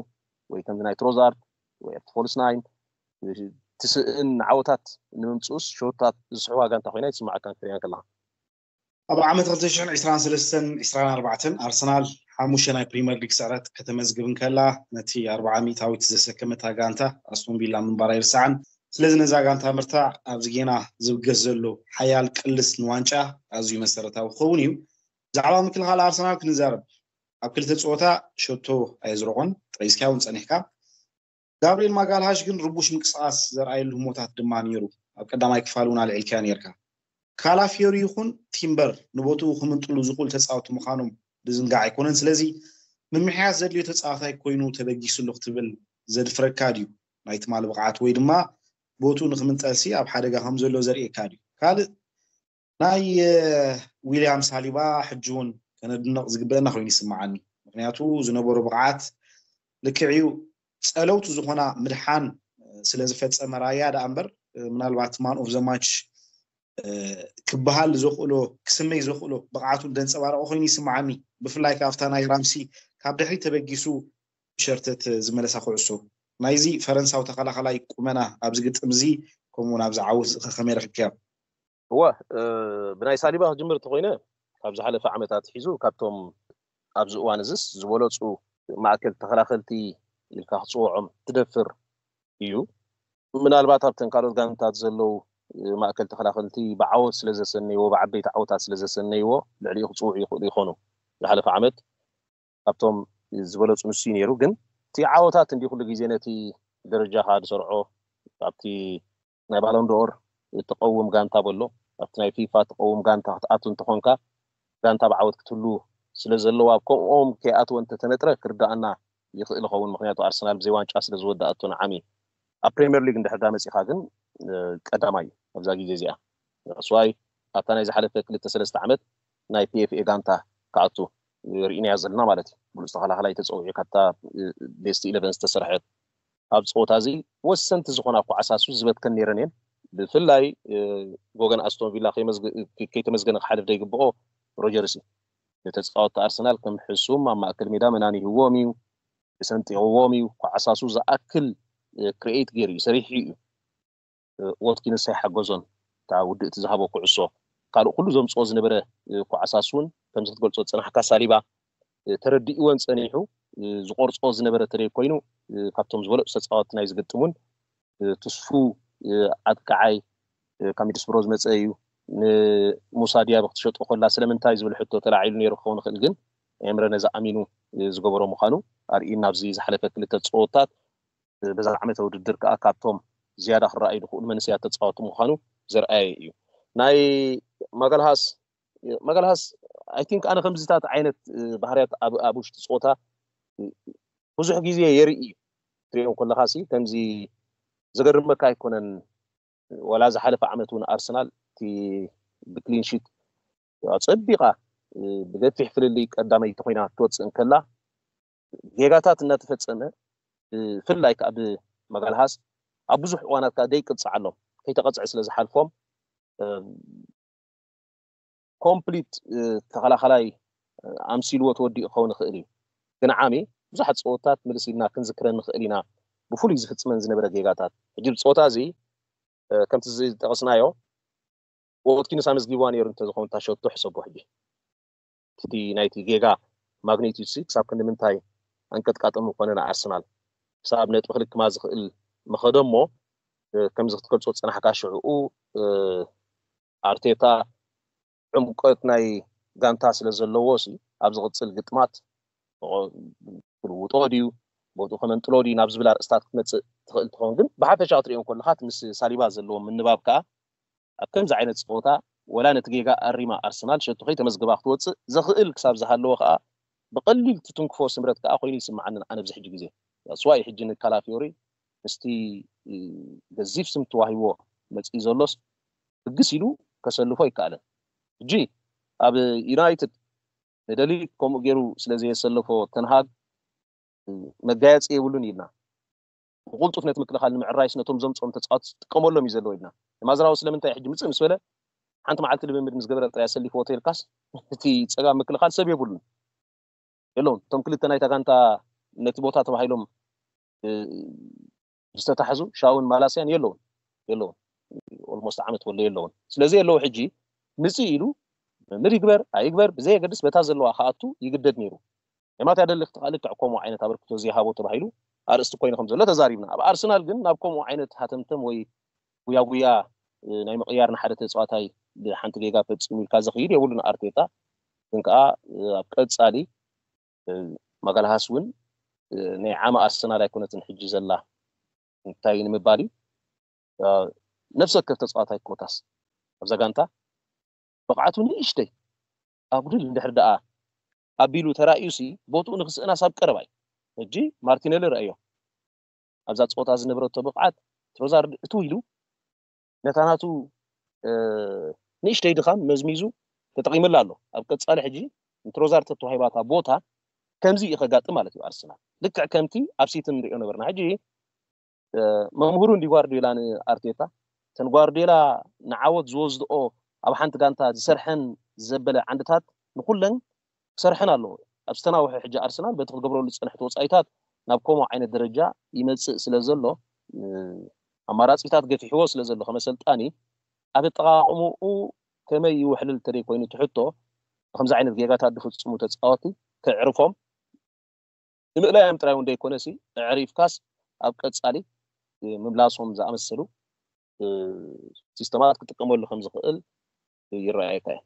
ወይ ከምዚ ናይ ትሮዛርድ ወይ ኣብቲ ፎልስ ናይን እቲ ስእን ዓወታት ንምምፅኡስ ሸወታት ዝስሕዋ ጋንታ ኮይና ይስምዓካ ክትሪኣ ከለካ። ኣብ ዓመት ክልተ ሽሕን ዕስራን ሰለስተን ዕስራን ኣርባዕተን ኣርሰናል ሓሙሽተ ናይ ፕሪምየር ሊግ ስዕረት ከተመዝግብ እንከላ ነቲ ኣርብዓ ሚእታዊት ዘሰከመታ ጋንታ ኣስቶን ቪላ ምንባራ ኣይርሳዕን። ስለዚ ነዛ ጋንታ ምርታዕ ኣብዚ ጌና ዝብገስ ዘሎ ሓያል ቅልስ ንዋንጫ ኣዝዩ መሰረታዊ ክኸውን እዩ። ብዛዕባ ምክልኻል ኣርሰናል ክንዛረብ ኣብ ክልተ ፀወታ ሸቶ ኣየዝረቖን ጠቂስካዮ እውን ፀኒሕካ። ጋብርኤል ማጋልሃሽ ግን ርቡሽ ምንቅስቃስ ዘርኣየሉ ህሞታት ድማ ነይሩ። ኣብ ቀዳማይ ክፋል እውን ኣልዒልካዮ ነይርካ። ካላፊዮሪ ይኹን ቲምበር ንቦትኡ ክምንጥሉ ዝኽእሉ ተፃወቲ ምዃኖም ዝዝንጋዕ ኣይኮነን። ስለዚ ምምሕያሽ ዘድልዮ ተፃዋታይ ኮይኑ ተበጊሱ ኣሎ ክትብል ዘድፍረካ ድዩ? ናይ ትማሊ ብቕዓት ወይ ድማ ቦትኡ ንክምንጠልሲ ኣብ ሓደጋ ከም ዘሎ ዘርእየካ ድዩ? ካልእ ናይ ዊልያም ሳሊባ ሕጂ እውን ከነድንቕ ዝግበአና ኮይኑ ይስምዓኒ። ምክንያቱ ዝነበሮ ብቕዓት ልክዕ እዩ። ፀለውቲ ዝኾና ምድሓን ስለ ዝፈፀመ ራያ ደኣ እምበር ምናልባት ማን ኦፍ ዘ ማች ክበሃል ዘኽእሎ ክስመይ ዘኽእሎ ብቕዓቱ ደንፀባረቐ ኮይኑ ይስምዓኒ። ብፍላይ ካብታ ናይ ራምሲ ካብ ድሕሪት ተበጊሱ ብሸርተት ዝመለሳ ኩዕሶ ናይዚ ፈረንሳዊ ተኸላኸላይ ቁመና ኣብዚ ግጥም እዚ ከምኡውን ኣብዚ ዓወት እዚ ከመይ ረኺብካዮ? እወ ብናይ ሳሊባ ክጅምር እንተኮይነ ካብ ዝሓለፈ ዓመታት ሒዙ ካብቶም ኣብዚ እዋን እዚስ ዝበለፁ ማእከል ተኸላኸልቲ ኢልካ ክፅውዖም ትደፍር እዩ። ምናልባት ኣብተን ካልኦት ጋንታት ዘለዉ ማእከል ተኸላኸልቲ ብዓወት ስለ ዘሰነይዎ፣ ብዓበይቲ ዓወታት ስለ ዘሰነይዎ ልዕሊኡ ክፅውዑ ይኽእሉ ይኾኑ። ዝሓለፈ ዓመት ካብቶም ዝበለፁ ንሱ እዩ ነይሩ። ግን እቲ ዓወታት እንዲ ኩሉ ግዜ ነቲ ደረጃኻ ዝሰርዖ ኣብቲ ናይ ባሎንዶር ትቐውም ጋንታ በሎ ኣብቲ ናይ ፊፋ ትቐውም ጋንታ ክትኣቱ እንተኾንካ ጋንታ ብዓወት ክትህሉ ስለ ዘለዋ ከምኦም ከይኣትወ እንተተነጥረ ክርዳኣና ይኽእል ይኸውን። ምክንያቱ ኣርሰናል ብዘይ ዋንጫ ስለ ዝወዳኣቶ ንዓሚ ኣብ ፕሪምየር ሊግ እንድሕር ዳ መፂኻ ግን ቀዳማይ እዩ ኣብዛ ግዜ እዚኣ። ስዋይ ኣብታ ናይ ዝሓለፈ ክልተ ሰለስተ ዓመት ናይ ፒኤፍኤ ጋንታ ክኣቱ ርኢናዮ ዘለና ማለት እዩ። ብሉፅ ተኸላኸላይ ተፀዊዑ ካብታ ቤስት ኢለቨን ዝተሰርሐት ኣብ ፀወታ እዚ ወሰንቲ ዝኾና ኳዕሳሱ ዝበትከን ነይረን እየን። ብፍላይ ጎገን ኣስቶን ቪላ ከይተመስገነ ክሓልፍ ዘይግብኦ ሮጀርስ እዩ። ንተፃወትቲ ኣርሰናል ከም ሕሱም ኣብ ማእከል ሜዳ መናኒህዎም እዩ፣ ሰንጢቕዎም እዩ። ኳዕሳሱ ዝኣክል ክሪኤት ገይሩ እዩ፣ ሰሪሑ እዩ። ወትኪንስ ኣይሓገዞን። እታ ውድእቲ ዝሃቦ ኩዕሶ ካልእ ኩሉ ዘምፅኦ ዝነበረ ኳዕሳሱ እውን ከምዚ ክትገልፆ ዝፀናሕካ ሳሊባ ተረዲእዎን ፀኒሑ ዝቆርፆ ዝነበረ ተደይ ኮይኑ ካብቶም ዝበለፁ ተፃወትቲ ናይ ዝግጥሙን ትስፉ ኣጥቃዓይ ካብ ሚድስብሮ ዝመፀ እዩ። ንሙሳ ዲያብ ክትሸጦ ከላ ስለምንታይ ዝብል ሕቶ ተላዒሉ ነይሩ ክኸውን ይኽእል፣ ግን ኤምረ ነዚ ኣሚኑ ዝገበሮ ምዃኑ ኣርእዩና ኣብዚ ዝሓለፈ ክልተ ፀወታት። በዛ ዓመተ ውድድር ከዓ ካብቶም ዝያዳ ክረኣዩ ዝኽእሉ መንእሰያት ተፃወቲ ምዃኑ ዘርኣየ እዩ። ናይ ማጋልሃስ ማጋልሃስ ኣይ ቲንክ ኣነ ከምዚታት ዓይነት ባህርያት ኣብ ውሽጢ ፀወታ ብዙሕ ግዜ የርኢ እዩ። ትሪኦ ከለኻ ሲ ከምዚ ዘገርመካ ኣይኮነን። ወላ ዝሓለፈ ዓመት እውን ኣርሰናል እቲ ብክሊንሺት ፀቢቓ ብገፊሕ ፍልልይ ቀዳመይቲ ኮይና ክትወፅእ እንከላ ጌጋታት እናተፈፀመ ብፍላይ ከዓ ብመጋልሃስ ኣብ ብዙሕ እዋናት ከዓ ደይቅፅዓሎም ከይተቐፅዐ ስለ ዝሓልፎም ኮምፕሊት ተኸላኸላይ ኣምሲልዎ ተወዲኡ ክኸውን ይኽእል እዩ። ግን ዓሚ ብዙሓት ፀወታት ምልስ ኢልና ክንዝክረን ንኽእል ኢና። ብፍሉይ ዝፍፅመን ዝነበረ ጌጋታት ሕጂ ብፀወታ እዚ ከምቲ ዝጠቐስናዮ ወትኪንስ ኣመዝጊብዋ ነይሩ እንተዝኸውን እታ ሸቶ ሕሰቦ ሕጂ እቲ ናይቲ ጌጋ ማግኒቲዩድ ሲ ክሳብ ክንዲ ምንታይ ኣንቀጥቃጢ ምኾነ ንኣርሰናል ክሳብ ነጥቢ ክልክማ ዝኽእል ምኸደ እሞ ከምዚ ክትገልፆ ዝፀናሕካ ሽዕኡ ኣርቴታ ዕምቆት ናይ ጋንታ ስለ ዘለዎ ሲ ኣብ ዝቕፅል ግጥማት ክልውጦ ድዩ ቦትኡ ከመንጥሎ ድዩ ናብ ዝብል ኣርእስታት ክትመፅእ ትኽእል ትኸውን። ግን ብሓፈሻ ክትሪኦ ከለኻ ምስ ሳሊባ ዘለዎ ምንባብ ከዓ ኣብ ከምዚ ዓይነት ፀወታ ወላ ነቲ ጌጋ ኣሪማ ኣርሰናል ሸቶ ከይተመዝገባ ክትወፅእ ዘኽእል ክሳብ ዝሃለወ ከዓ ብቐሊል ትትንክፎ ስምረት ከዓ ኮይኑ ይስምዓንን ኣነ ኣብዚ ሕጂ ግዜ ስዋይ ሕጂ ንካላፊዮሪ ምስቲ ገዚፍ ስም ተዋሂቦ መፅኢ ዘሎስ ብግስ ኢሉ ከሰልፎ ይከኣለን። ሕጂ ኣብ ዩናይትድ ንደሊት ከምኡ ገይሩ ስለ ዘየሰለፎ ተንሃግ መጋየፂ የብሉን ኢልና ብቁልጡፍ ነቲ ምክልኻል ንምዕራይስ ነቶም ዘምፅኦም ተፃወት ዝጥቀመሎም እዩ ዘለዎ ኢልና ንማዝራዊ ስለምንታይ ሕጂ ምፅእ ምስ በለ ሓንቲ መዓልቲ ልምምድ ምስ ገበረ ጥራይ ኣሰሊፍዎ ተይልካስ እቲ ፀጋም ምክልኻል ሰብ የብሉን የለውን። እቶም ክልተ ናይታ ጋንታ ነቲ ቦታ ተባሂሎም ዝተታሕዙ ሻውን ማላስያን የለውን የለውን ኦልሞስት ዓመት ወሎ የለውን። ስለዚ የለዉ ሕጂ ምፅእ ኢሉ ምድ ይግበር ኣይግበር ብዘየገድስ በታ ዘለዋ ክኣቱ ይግደድ ነይሩ። የማት ያደሊ ክትቃልዕ ከምኡ ዓይነት ኣበርክቶ ዘይሃቦ ተባሂሉ ኣርእስቲ ኮይኑ ከም ዘሎ ተዛሪብና። ኣብ ኣርሰናል ግን ናብ ከምኡ ዓይነት ሃተምተም ወይ ጉያጉያ ናይ ምቕያር ንሓደ ተፃዋታይ ብሓንቲ ጌጋ ፈፂሙ ኢልካ ዘኽይድ የብሉን ኣርቴታ። ግን ከዓ ኣብ ቀፃሊ ማጋልሃስ እውን ናይ ዓመ ኣርሰናል ኣይኮነትን ሕጂ ዘላ እንታይ ንምባል እዩ ነፍሲ ወከፍ ተፃዋታይ ኮታስ ኣብዛ ጋንታ ብቕዓቱ ንእሽተይ ኣጉድል እንድሕር ደኣ ኣቢሉ ተራእዩሲ ቦትኡ ንክስእናስ ኣብ ቀረባ እዩ። ሕጂ ማርቲነሊ ረእዮ ኣብዛ ፀወታ ዝነበረቶ ብቕዓት ትሮዛርድ እትው ኢሉ ነታ ናቱ ንእሽተይ ድኻም መዝሚዙ ተጠቒመላ ኣሎ። ኣብ ቀፃሊ ሕጂ ንትሮዛርድ ተተዋሂባታ ቦታ ከምዚ እዩ ከጋጥም ማለት እዩ ኣርሰናል ልክዕ ከምቲ ኣብ ሲቲ ንሪኦ ነበርና። ሕጂ መምህሩ እንዲ ጓርዲዮላ ንኣርቴታ እተን ጓርዲዮላ ንዓወት ዝወስድኦ ኣብ ሓንቲ ጋንታ ዝሰርሐን ዘበለ ዓንድታት ንኩለን ክሰርሐን ኣለዎ። ኣብ ዝተናውሐ ሕጂ ኣርሰናል በቲ ክገብረሉ ዝፀንሐ ተወፃኢታት ናብ ከምኡ ዓይነት ደረጃ ይመፅእ ስለ ዘሎ ኣማራፂታት ገፊሕዎ ስለ ዘሎ ከመሰልጣኒ ኣብ ኣጠቃቕምኡ ከመይ ይውሕልል ተደይ ኮይኑ ትሕቶ ከምዚ ዓይነት ጌጋታት ዝፍፅሙ ተፃወቲ ከዕርፎም ንምእላዮም ጥራይ እውን ዘይኮነሲ፣ ኣዕሪፍካስ ኣብ ቀጻሊ ምምላሶም ዝኣመሰሉ ሲስተማት ክጥቀመሉ ከም ዝኽእል ይረኣየካ እዩ።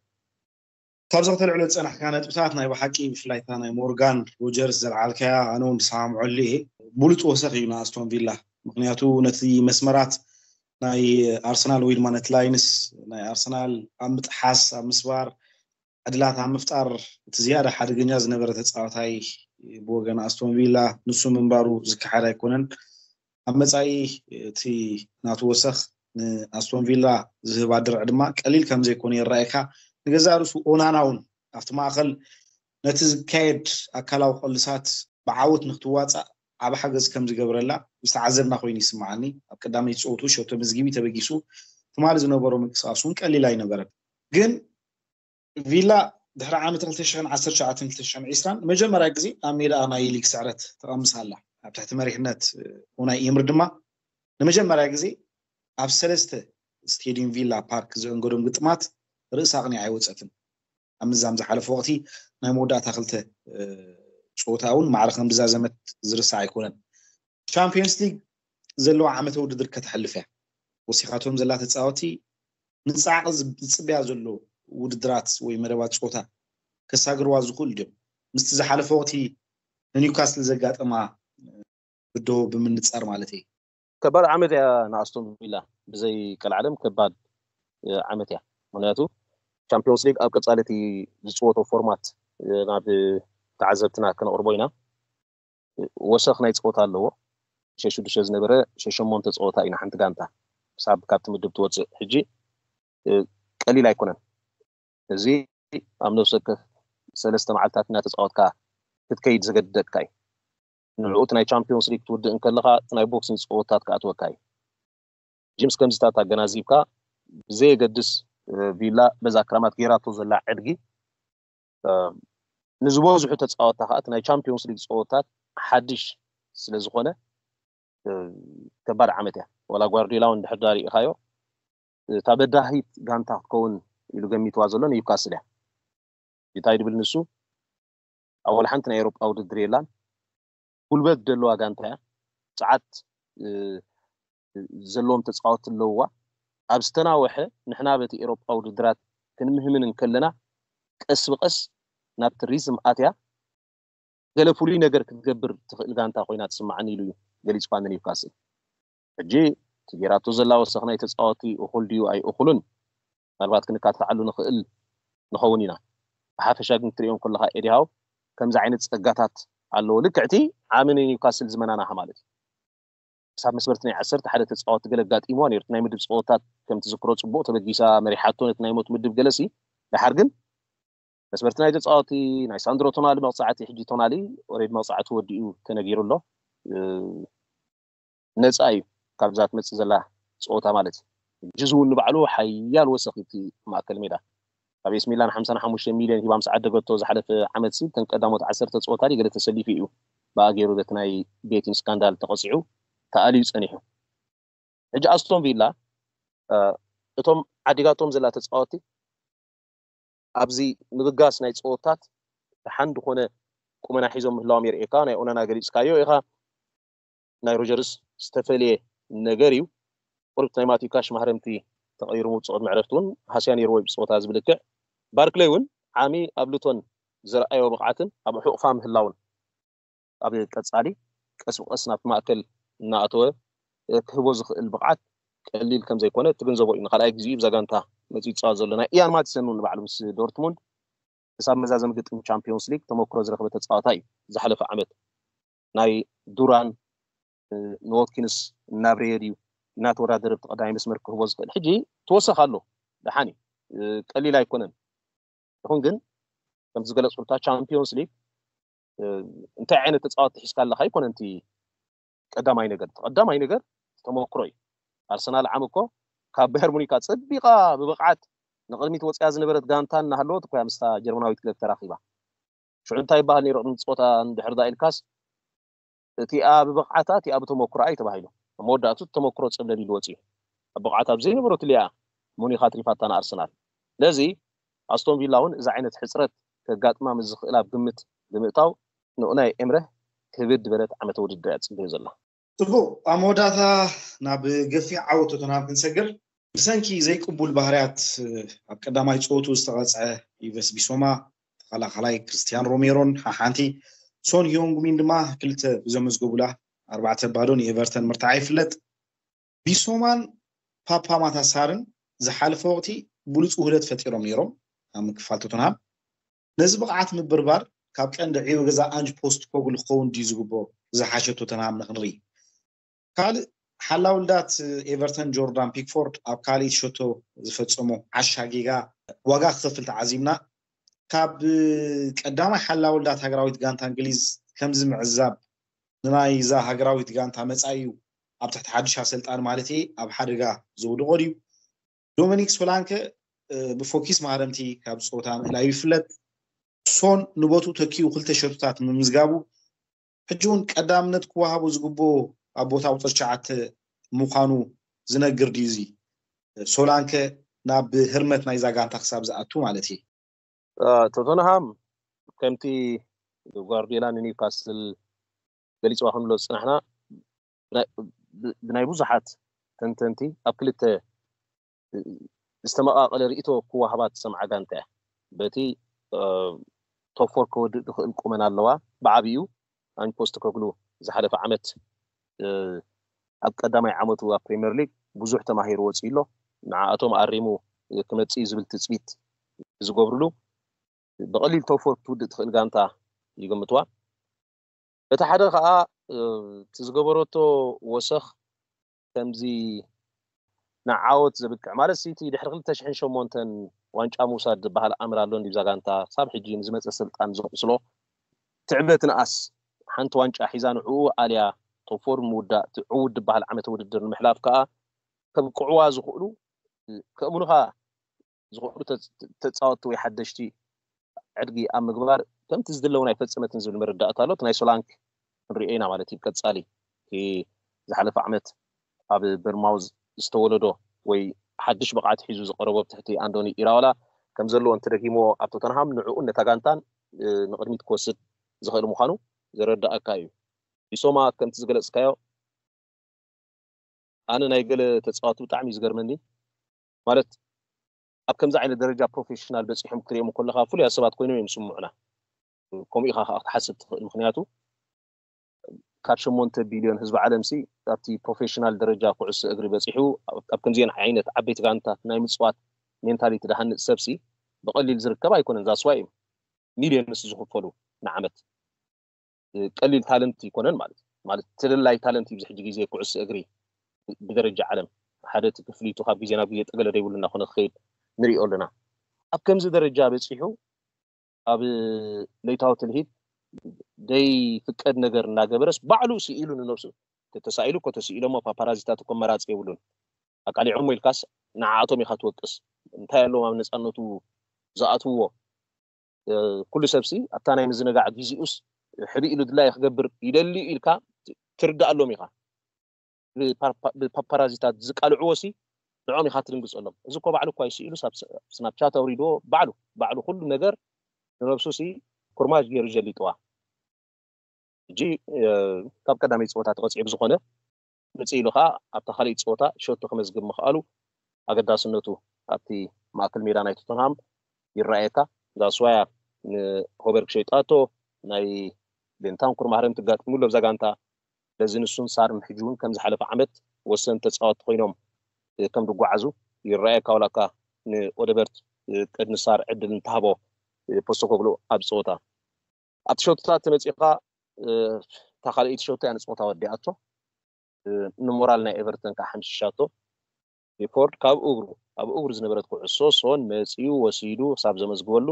ካብዚ ከተልዕሎ ዝጸናሕካ ነጥብታት፣ ናይ ብሓቂ ብፍላይ እታ ናይ ሞርጋን ሮጀርስ ዘልዓልካያ ኣነ እውን ዝሰማምዐሉ እየ። ብሉጽ ወሰኽ እዩ ንኣስቶን ቪላ። ምክንያቱ ነቲ መስመራት ናይ ኣርሰናል ወይ ድማ ነቲ ላይንስ ናይ ኣርሰናል ኣብ ምጥሓስ፣ ኣብ ምስባር፣ ዕድላት ኣብ ምፍጣር እቲ ዝያዳ ሓደገኛ ዝነበረ ተጻዋታይ ብወገን ኣስቶን ቪላ ንሱ ምንባሩ ዝከሓድ ኣይኮነን። ኣብ መጻኢ እቲ ናቱ ወሰኽ ንኣስቶን ቪላ ዝህባ ድርዕ ድማ ቀሊል ከም ዘይኮነ ይረኣየካ። ንገዛእ ርእሱ ኦናና እውን ኣብቲ ማእኸል ነቲ ዝካየድ ኣካላዊ ቅልሳት ብዓወት ንክትዋጻእ ዓቢ ሓገዝ ከም ዝገብረላ ዝተዓዘብና ኮይኑ ይስምዓኒ። ኣብ ቀዳመይቲ ጸወቱ ሸቶ መዝጊቢ ተበጊሱ ትማሊ ዝነበሮ ምንቅስቃስ እውን ቀሊል ኣይነበረን። ግን ቪላ ድሕሪ ዓመት ክልተ ሽሕን ዓሰርተ ትሽዓተን ክልተ ሽሕን ዕስራን ንመጀመርያ ግዜ ኣብ ሜዳ ናይ ሊግ ስዕረት ተቐምስ ኣላ። ኣብ ትሕቲ መሪሕነት ኡናይ ኤምሪ ድማ ንመጀመርያ ግዜ ኣብ ሰለስተ ስቴዲየም ቪላ ፓርክ ዘእንገዶም ግጥማት ርእሳ ኣቕኒዓ ኣይወፀትን። ኣብ ምዛም ዝሓለፈ ወቕቲ ናይ መወዳእታ ክልተ እ፣ ፀወታ እውን ማዕረ ከም ዝዛዘመት ዝርሳዕ ኣይኮነን። ቻምፒዮንስ ሊግ ዘለዋ ዓመተ ውድድር ከተሕልፍ እያ። ወሲኻቶም ዘላ ተፃወቲ ንፃዕቂ ዝፅብያ ዘሎ ውድድራት ወይ መደባት ፀወታ ከሳግርዋ ዝኽእሉ ድዮም? ምስቲ ዝሓለፈ ወቕቲ ንኒውካስል ዘጋጠማ ብድሆ ብምንፃር ማለት እየ። ከባድ ዓመት እያ ንኣስቶን ቪላ። ብዘይ ቀልዓለም ከባድ እ፣ ዓመት እያ። ምክንያቱ ቻምፒዮንስ ሊግ ኣብ ቀፃሊ እቲ ዝፅወቶ ፎርማት እ፣ ናብ ተዓዘብትና ክነቕርቦ ኢና። ወሰኽ ናይ ፀወታ ኣለዎ። ሸሽ ሽዱሽተ ዝነበረ ሸሽ ሸሞንተ ፀወታ ኢና ሓንቲ ጋንታ ክሳብ ካብቲ ምድብ ትወፅእ። ሕጂ እ፣ ቀሊል ኣይኮነን። እዚ ኣብ ነፍሲ ወከፍ ሰለስተ መዓልታት እናተፃወትካ ክትከይድ ዘገድደካ እዩ። ንዕኡ እቲ ናይ ቻምፒዮንስ ሊግ ትውድእ እንከለኻ እቲ ናይ ቦክሲንግ ፀወታት ክኣትወካ እዩ። ጂምስ ከምዚታት ኣገናዚብካ ብዘየገድስ እ፣ ቪላ በዛ ክረማት ጌራቶ ዘላ ዕድጊ እ፣ ንዝበዝሑ ተፃወትታ ከዓ እቲ ናይ ቻምፒዮንስ ሊግ ፀወታት ሓድሽ ስለ ዝኾነ እ፣ ከባድ ዓመት እያ። ዋላ ጓርዲዮላ እውን ድሕር ዳር ርኢኻዮ እታ በዳሂት ጋንታ ክትከውን ኢሉ ገሚትዋ ዘሎ ኒውካስል እያ። እንታይ ድብል ንሱ ኣብ ወላ ሓንቲ ናይ ኤሮጳ ውድድር የላን። ጉልበት ደለዋ ጋንታ እያ። ጸዓት እ፣ ዘለዎም ተጻወትቲ ኣለውዋ። ኣብ ዝተናወሐ ንሕና በቲ ኤሮጳ ውድድራት ክንምህምን እንከለና ቀስ ብቀስ ናብቲ ሪዝም ኣትያ ገለ ፍሉይ ነገር ክትገብር ትኽእል ጋንታ ኮይና ትስማዓኒ ኢሉ እዩ ገሊጽኳ ንኒውካስል። ሕጂ እቲ ጌራቶ ዘላ ወሰኽ ናይ ተጻወቲ እኹል ድዩ ኣይእኹልን ምናልባት ክንካትዓሉ ንኽእል ንኸውን ኢና። ብሓፈሻ ግን ክትሪኦም ከለኻ ኤዲሃው ከምዚ ዓይነት ጸጋታት ኣለዎ። ልክዕቲ ዓሚ ንኒውካስል ዝመናናኻ ማለት እዩ። ክሳብ መስመርቲ ናይ ዓሰርተ ሓደ ተጻወቲ ገለ ኣጋጢምዋ ነይሩ። እቲ ናይ ምድብ ጸወታት ከም ትዝክሮ ጽቡቕ ተበጊሳ መሪሓቶ ነቲ ናይ ሞት ምድብ ገለሲ ደሓር ግን መስመርቲ ናይ ተጻወቲ ናይ ሳንድሮ ቶናሊ መቕጻዕቲ ሕጂ ቶናሊ ኦሬድ መቕጻዕቲ ወዲኡ ተነጊሩ ኣሎ። እ፣ ነጻ እዩ ካብዛ ትመጽእ ዘላ ጸወታ ማለት እዩ። ሕጂ እውን ንባዕሉ ሓያል ወሰኽ እቲ ማእከል ሜዳ ኣብ ኤስ ሚላን ሓምሳን ሓሙሽተ ሚልዮን ሂባ ምስ ዓደገቶ ዝሓለፈ ዓመት ሲ እተን ቀዳሞት ዓሰርተ ጸወታ ድዩ ገለ ተሰሊፉ እዩ ብኣገይሩ በቲ ናይ ቤቲን ስካንዳል ተቐጺዑ ተኣልዩ ጸኒሑ። ሕጂ ኣስቶን ቪላ እ፣ እቶም ዓዲጋቶም ዘላ ተጻወቲ ኣብዚ ምብጋስ ናይ ጸወታት ደሓን ዝኾነ ቁመና ሒዞም ምህላዎም የርእየካ። ናይ ኦናና ገሊጽካዮ ኢኻ። ናይ ሮጀርስ ዝተፈልየ ነገር እዩ። ቁሩብ ናይ ማቲዩ ካሽ ማህረምቲ ተቐይሩ ምውፅኦ ዕድመ ዕረፍቲ እውን ሃስያ ነይርዎ እዩ ብፀወታ ዝብል ልክዕ። ባርክለይ እውን ዓሚ ኣብ ሉቶን ዘርኣዮ ብቕዓትን ኣብ ሕቑፋ ምህላውን ኣብ ቀጻሊ ቀስ ብቀስ ናብቲ ማእከል እናኣተወ እ፣ ክህቦ ዝኽእል ብቕዓት ቀሊል ከም ዘይኮነ ትግንዘቦ እዩ። ንኻልኣይ ግዜኡ ብዛ ጋንታ መጺኡ ዝጻወት ዘሎ ናይ ኢያን ማቲሰን እውን ንባዕሉ ምስ ዶርትሙንድ ክሳብ መዛዘሚ ግጥም ቻምፒዮንስ ሊግ ተመክሮ ዝረኸበ ተጻዋታይ እዩ። ዝሓለፈ ዓመት ናይ ዱራን እ፣ ንዎትኪንስ እናብረየ ድዩ እናተወዳደረ ብቲ ቀዳማይ መስመር ክህቦ ዝኽእል ሕጂ ትወሰኽ ኣሎ። ደሓን እዩ እ፣ ቀሊል ኣይኮነን። ይኹን ግን ከም ዝገለጽኩልካ ቻምፒዮንስ ሊግ እ፣ እንታይ ዓይነት ተጻወቲ ሒዝካ ኣለካ ኣይኮነን እቲ ቀዳማይ ነገር። እቲ ቀዳማይ ነገር ተመክሮ እዩ። ኣርሰናል ዓም እኮ ካብ ባየር ሙኒክ ኣጸቢቓ ብብቕዓት ንቕድሚት ወጽያ ዝነበረት ጋንታ እናሃለወት እኮ እያ ምስታ ጀርመናዊት ክለብ ተራኺባ። ሽዑ እንታይ ይበሃል ነይሩ ቅድሚ ጸወታ እንድሕር ዳ ኢልካስ እቲኣ ብብቕዓታ እቲኣ ብተመክሮኣ እዩ ተባሂሉ። ኣብ መወዳእቱ እቲ ተመክሮ ጸብለል ኢሉ ወጺኡ። ኣብ ብቕዓት ኣብ ዘይነበረትሉ እያ ሙኒክ ኣትሪፋታ ንኣርሰናል። ስለዚ ኣስቶን ቪላ እውን እዚ ዓይነት ሕጽረት ከጋጥማ ምስ ዝኽእል ኣብ ግምት ብምእታው ንኡናይ ኤምረ ክብድ ዝበለት ዓመተ ውድድር እያ ትፅበዮ ዘላ። ፅቡቅ፣ ኣብ መወዳእታ ናብ ገፊሕ ዓወት ቶተንሃም ክንሰግር። ብሰንኪ ዘይቅቡል ባህርያት ኣብ ቀዳማይ ፀወቱ ዝተቐፅዐ ኢቨስ ቢሶማ፣ ተኸላኸላይ ክርስቲያን ሮሜሮን ሓሓንቲ ሶን ሂዮንጉሚን ድማ ክልተ ብዘመዝገቡላ ኣርባዕተ ባዶ ንኤቨርተን ምርታዓ ይፍለጥ። ቢሶማን ፓፓ ማታሳርን ዝሓለፈ ወቅቲ ብሉፅ ውህደት ፈጢሮም ነይሮም ኣብ ምክፋል ቶተንሃም። ነዚ ብቕዓት ምብርባር ካብ ቀንዲ ዕዮ ገዛ ኣንጅ ፖስት ኮግሉ ክኸውን ድዩ ዝግቦ ዝሓሸ ቶተንሃም ንክንርኢ። ካልእ ሓላውልዳት ኤቨርተን ጆርዳን ፒክፎርድ ኣብ ካልእ ሸቶ ዝፈጸሞ ዓሻ ጌጋ ዋጋ ክኸፍል ተዓዚብና። ካብ ቀዳማይ ሓላውልዳት ሃገራዊት ጋንታ እንግሊዝ ከምዚ ምዕዛብ ንናይዛ ሃገራዊት ጋንታ መጻኢ እዩ ኣብ ትሕቲ ሓድሽ ኣሰልጣኒ ማለት እየ ኣብ ሓደጋ ዘውድቆ ድዩ? ዶሚኒክ ሶላንከ ብፎኪስ ማህረምቲ ካብ ፀወታ ምእላዩ ይፍለጥ። ሶን ንቦቱ ተኪኡ ክልተ ሸቶታት ምምዝጋቡ ሕጂ እውን ቀዳምነት ክወሃቦ ዝግብኦ ኣብ ቦታ ቁፅሪ ትሽዓተ ምዃኑ ዝነግር ድዩ እዚ? ሶላንከ ናብ ህርመት ናይዛ ጋንታ ክሳብ ዝኣቱ ማለት እዩ። ቶተንሃም ከምቲ ጓርዲዮላ ንኒውካስል ገሊፅዋ ክንብሎ ዝፅናሕና ብናይ ብዙሓት ተንተንቲ ኣብ ክልተ ዝተመቃቀለ ርእቶ ክወሃባ ትሰምዓ ጋንታ እያ። በቲ ቶፎር ከወድእ ዝኽእል ቁመና ኣለዋ። ብዓብዩ ኣንጅ ፖስት ኮግሉ ዝሓለፈ ዓመት ኣብ ቀዳማይ ዓመቱ ኣብ ፕሪምየር ሊግ ብዙሕ ተማሂሩ ወፂኡ ኣሎ። ንዓኣቶም ኣሪሙ ክመፅእ እዩ ዝብል ትፅቢት ዝገብርሉ ብቐሊል ቶፎር ክትውድእ ትኽእል ጋንታ ይግምትዋ። እቲ ሓደ ከዓ እቲ ዝገበረቶ ወሰኽ ከምዚ ንዓወት ዘብቅዕ ማለት ሲቲ ድሕሪ ክልተ ሽሕን ሸሞንተን ዋንጫ ምውሳድ ዝበሃል ኣምር ኣሎ እንዲብዛ ጋንታ ክሳብ ሕጂ ንዝመፀ ስልጣን ዘቕስሎ ትዕበትንኣስ ሓንቲ ዋንጫ ሒዛ ንዕኡ ኣልያ ቶፎር ምውዳእ እቲ ዕውድ ዝበሃል ዓመተ ውድድር ንምሕላፍ ከዓ ከብቅዕዋ ዝኽእሉ ከእምኑኻ ዝኽእሉ ተፃወትቲ ወይ ሓደሽቲ ዕድጊ ኣብ ምግባር ከምቲ ዝድለ እውን ኣይፈፀመትን ዝብል መረዳእታ ኣሎ። ናይ ሶላንክ ክንሪኦ ኢና ማለት እዩ። ቀፃሊ ዝሓለፈ ዓመት ኣብ በርማውዝ ዝተወለዶ ወይ ሓድሽ ብቕዓት ሒዙ ዝቀረቦ ኣብ ትሕቲ ኣንዶኒ ኢራኦላ ከም ዘለዎ እንተደጊሞ ኣብ ቶተንሃም ንዕኡን ነታ ጋንታን ንቅድሚት ክወስድ ዝኽእል ምዃኑ ዘረዳእካ እዩ። ቢሶማ ከምቲ ዝገለፅካዮ ኣነ ናይ ገለ ተፃወቲ ብጣዕሚ እዩ ዝገርመኒ ማለት ኣብ ከምዚ ዓይነት ደረጃ ፕሮፌሽናል በፂሖም ክትሪኦም ከለካ ፍሉያት ሰባት ኮይኖም እዮም ዝስምዑና። ከምኡ ኢኻ ከዓ ክትሓስብ ትኽእል ምክንያቱ ካብ ሸሞንተ ቢልዮን ህዝቢ ዓለም ሲ ኣብቲ ፕሮፌሽናል ደረጃ ኩዕሶ እግሪ በፂሑ ኣብ ከምዚአን ዓይነት ዓበይቲ ጋንታት ናይ ምፅዋት ሜንታሊቲ ዝሃንፅ ሰብ ሲ ብቐሊል ዝርከብ ኣይኮነን። ዛስዋይ እዮም ሚልዮንስ ዝኽፈሉ ንዓመት። ቀሊል ታለንት ይኮነን ማለት ማለት ተደላይ ታለንት እዩ። ሕጂ ግዜ ኩዕሶ እግሪ ብደረጃ ዓለም ሓደ እቲ ክፍሊቱ ካብ ግዜ ናብ ግዜ ጠገለ ደይብሉ እናኾነ ክኸይድ ንሪኦ ኣለና። ኣብ ከምዚ ደረጃ በፂሑ ኣብ ለይታዊ ትልሂት ደይ ፍቀድ ነገር እናገበረስ ባዕሉ ስኢሉ ንነብሱ ተተሳኢሉ እኮ ተስኢሎሞ ፓፓራዚታት እኮ መራፂ የብሉን። ኣቃሊዖሞ ኢልካስ ንዓኣቶም ኢኻ ትወቅስ። እንታይ ኣለዎም ኣብ ነፃነቱ ዝኣትውዎ? ኩሉ ሰብሲ ኣብታ ናይ ምዝንጋዕ ጊዜኡስ ሕቢ ኢሉ ድላየ ክገብር ይደሊ ኢልካ ትርዳኣሎም ኢኻ። ብፓፓራዚታት ዝቃልዕዎ ሲ ንዖም ኢኻ ትድንግፀሎም። እዚ እኮ ባዕሉ እኳ ይስኢሉ ስናፕቻት ኣውሪድዎ ባዕሉ ባዕሉ ኩሉ ነገር ንነብሱ ሲ ኩርማጅ ገይሩ ጀሊጥዋ። ሕጂ ካብ ቀዳመይ ፀወታ ተቐፂዑ ብዝኾነ ምፅእ ኢሉ ከዓ ኣብታ ካልኣይቲ ፀወታ ሸቶ ክመዝግብ ምኽኣሉ ኣገዳስነቱ ኣብቲ ማእከል ሜዳ ናይ ቶተንሃም ይረኣየካ። ዛስዋያ ንሆበርግ ሸይጣቶ ናይ ቤንታንኩር ማህረም ትጋጥምሉ ኣብዛ ጋንታ በዚ ንሱን ሳርን ሕጂ እውን ከም ዝሓለፈ ዓመት ወሰን ተፃወቲ ኮይኖም ከም ዝጓዓዙ ይረኣየካ። ዋላካ ንኦደበርት ቅድሚ ሳር ዕድል እንተሃቦ ፖስተኮግሉ ኣብ ፀወታ ኣብቲ ሸቶታት ተመፂእካ እታ ካልኣይቲ ሸቶ እያ ንፀወታ ወዲኣቶ። ንሞራል ናይ ኤቨርተን ከዓ ሓምሽሻቶ። ሪፖርድ ካብ እግሩ ኣብ እግሩ ዝነበረት ኩዕሶ ሶን መፂኡ ወሲዱ ክሳብ ዘመዝግበሉ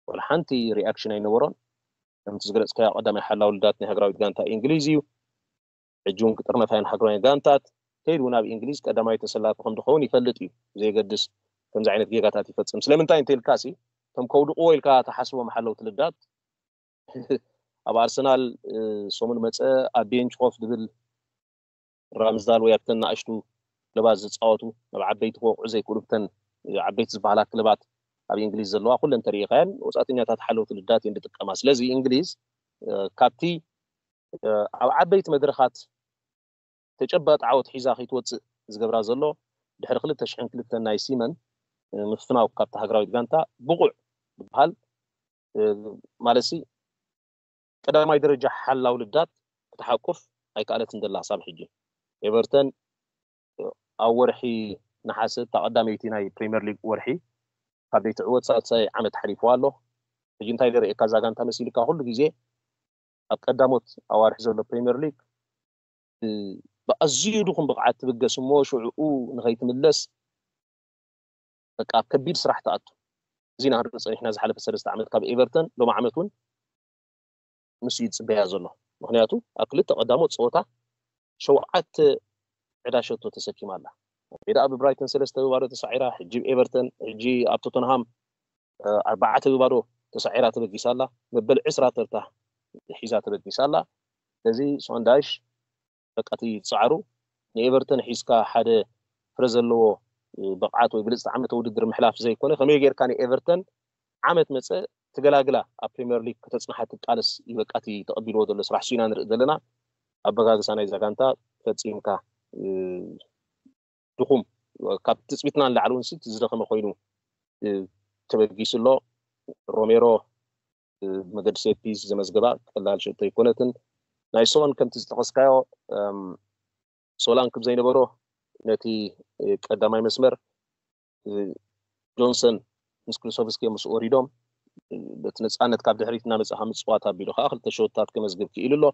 ወላ ሓንቲ ሪኣክሽን ኣይነበሮን። ከምቲ ዝገለፅካዮ ቀዳማይ ሓላው ልዳት ናይ ሃገራዊት ጋንታ እንግሊዝ እዩ። ሕጂ እውን ክጥርነፍ ኣየን ሃገራውያን ጋንታት ከይዱ ናብ እንግሊዝ ቀዳማይ ተሰላፊ ከም ዝኸውን ይፈልጥ እዩ። ብዘየገድስ ከምዚ ዓይነት ጌጋታት ይፈፅም። ስለምንታይ እንተኢልካ ሲ እቶም ከውድቕዎ ኢልካ ተሓስቦም ሓለውቲ ልዳት ኣብ ኣርሰናል ሰሙን መፀ ኣብ ቤንች ኮፍ ዝብል ራምዝዳል ወይ ኣብተን ንኣሽቱ ክለባት ዝፃወቱ ናብ ዓበይቲ ክወቅዑ ዘይክእሉ ብተን ዓበይቲ ዝበሃላ ክለባት ኣብ እንግሊዝ ዘለዋ ኩለን ተሪኢኻየን ወፃእተኛታት ሓለውቲ ልዳት እየን ዝጥቀማ። ስለዚ እንግሊዝ ካብቲ ኣብ ዓበይቲ መድረኻት ተጨባጢ ዓወት ሒዛ ከይትወፅእ ዝገብራ ዘሎ ድሕሪ ክልተ ሽሕን ክልተን ናይ ሲመን ምፍናው ካብታ ሃገራዊት ጋንታ ብቑዕ ዝበሃል ማለትሲ ቀዳማይ ደረጃ ሓላው ልዳት ክትሓቁፍ ኣይከኣለትን ዘላ ክሳብ ሕጂ። ኤቨርተን ኣብ ወርሒ ነሓሰ እታ ቀዳመይቲ ናይ ፕሪምየር ሊግ ወርሒ ካብ ዘይትዕወት ሳልሳይ ዓመት ሓሊፍዋ ኣሎ። ሕጂ እንታይ ደርእየካ እዛ ጋንታ መሲልካ ኩሉ ግዜ ኣብ ቀዳሞት ኣዋርሒ ዘሎ ፕሪምየር ሊግ ብኣዝዩ ድኹም ብቕዓት ትብገስ እሞ ሽዕኡ ንኸይትምለስ በቃ ኣብ ከቢድ ስራሕ ትኣቱ። እዚ ኢና ክንርኢ ፀኒሕና ዝሓለፈ ሰለስተ ዓመት ካብ ኤቨርተን ሎም ዓመት እውን ንሱ እዩ ዝፅበያ ዘሎ። ምክንያቱ ኣብ ክልተ ቀዳሞት ፀወታ ሸውዓተ ዕዳ ሸቶ ተሰኪማ ኣላ። ሜዳ ኣብ ብራይተን ሰለስተ ብባዶ ተሳዒራ፣ ሕጂ ኤቨርተን፣ ሕጂ ኣብ ቶተንሃም ኣርባዕተ ብባዶ ተሳዒራ ተበጊሳ ኣላ። መበል ዕስራ ተርታ ሒዛ ተበጊሳ ኣላ። ስለዚ ሶንዳይሽ በቃ እቲ ፃዕሩ ንኤቨርተን ሒዝካ ሓደ ፍረ ዘለዎ ብቕዓት ወይ ብልፅቲ ዓመተ ውድድር ምሕላፍ ዘይኮነ ከመይ ጌርካ ንኤቨርተን ዓመት መፀ ትገላግላ ኣብ ፕሪምየር ሊግ ከተፅንሓ ትቃለስ እዩ በቃ እቲ ተቐቢልዎ ዘሎ ስራሕ እሱ ኢና ንርኢ ዘለና። ኣበጋግሳ ናይዛ ጋንታ ፈፂምካ ድኹም ካብ ትፅቢትና ንላዕሊ እውን ዝደኸመ ኮይኑ ተበጊሱ ኣሎ። ሮሜሮ መገዲ ሴት ፒስ ዘመዝገባ ቀላል ሸቶ ኣይኮነትን። ናይ ሶን ከምቲ ዝጠቐስካዮ ሶላን ክብ ዘይነበሮ ነቲ ቀዳማይ መስመር ጆንሰን ምስ ክሉሶቭስኪ ምስ ወሪዶም በቲ ነፃነት ካብ ድሕሪት እናመፅኻ ምፅዋት ኣቢሉ ከዓ ክልተ ሸቶታት ከመዝግብ ክኢሉ ኣሎ።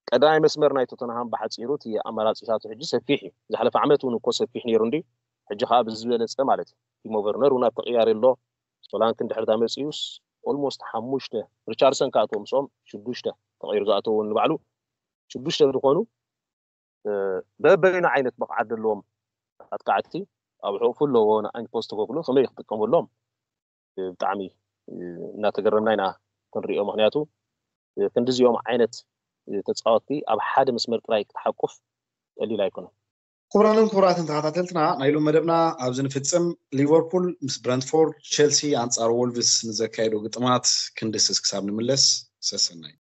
ቀዳማይ መስመር ናይ ቶተንሃም ብሓፂሩ እቲ ኣማራፂታቱ ሕጂ ሰፊሕ እዩ። ዝሓለፈ ዓመት እውን እኮ ሰፊሕ ነይሩ እንዲ ሕጂ ከዓ ብዝበለፀ ማለት እዩ። ቲሞ ቨርነር እውን ኣብ ተቅያሪ ኣሎ። ሶላንክ እንድሕር ዳ መፅኡስ ኦልሞስት ሓሙሽተ ሪቻርሰን ክኣትዎ ምስኦም ሽዱሽተ ተቀይሩ ዝኣተዎ እውን ንባዕሉ ሽዱሽተ ዝኾኑ በበይኑ ዓይነት ብቕዓት ዘለዎም ኣጥቃዕቲ ኣብ ሕቑፉ ኣለዎ ንኣይን ፖስት ኮግሉ ከመይ ክጥቀመሎም ብጣዕሚ እናተገረምና ኢና ክንሪኦ። ምክንያቱ ክንዲዚኦም ዓይነት ተፃወትቲ ኣብ ሓደ መስመር ጥራይ ክትሓቁፍ ቀሊል ኣይኮነን። ክቡራንን ክቡራትን ተኸታተልትና ናይ ሎም መደብና ኣብዚ ንፍፅም። ሊቨርፑል ምስ ብረንትፎርድ፣ ቸልሲ ኣንፃር ወልቭስ ንዘካየዶ ግጥማት ክንድስስ ክሳብ ንምለስ ሰሰናይ።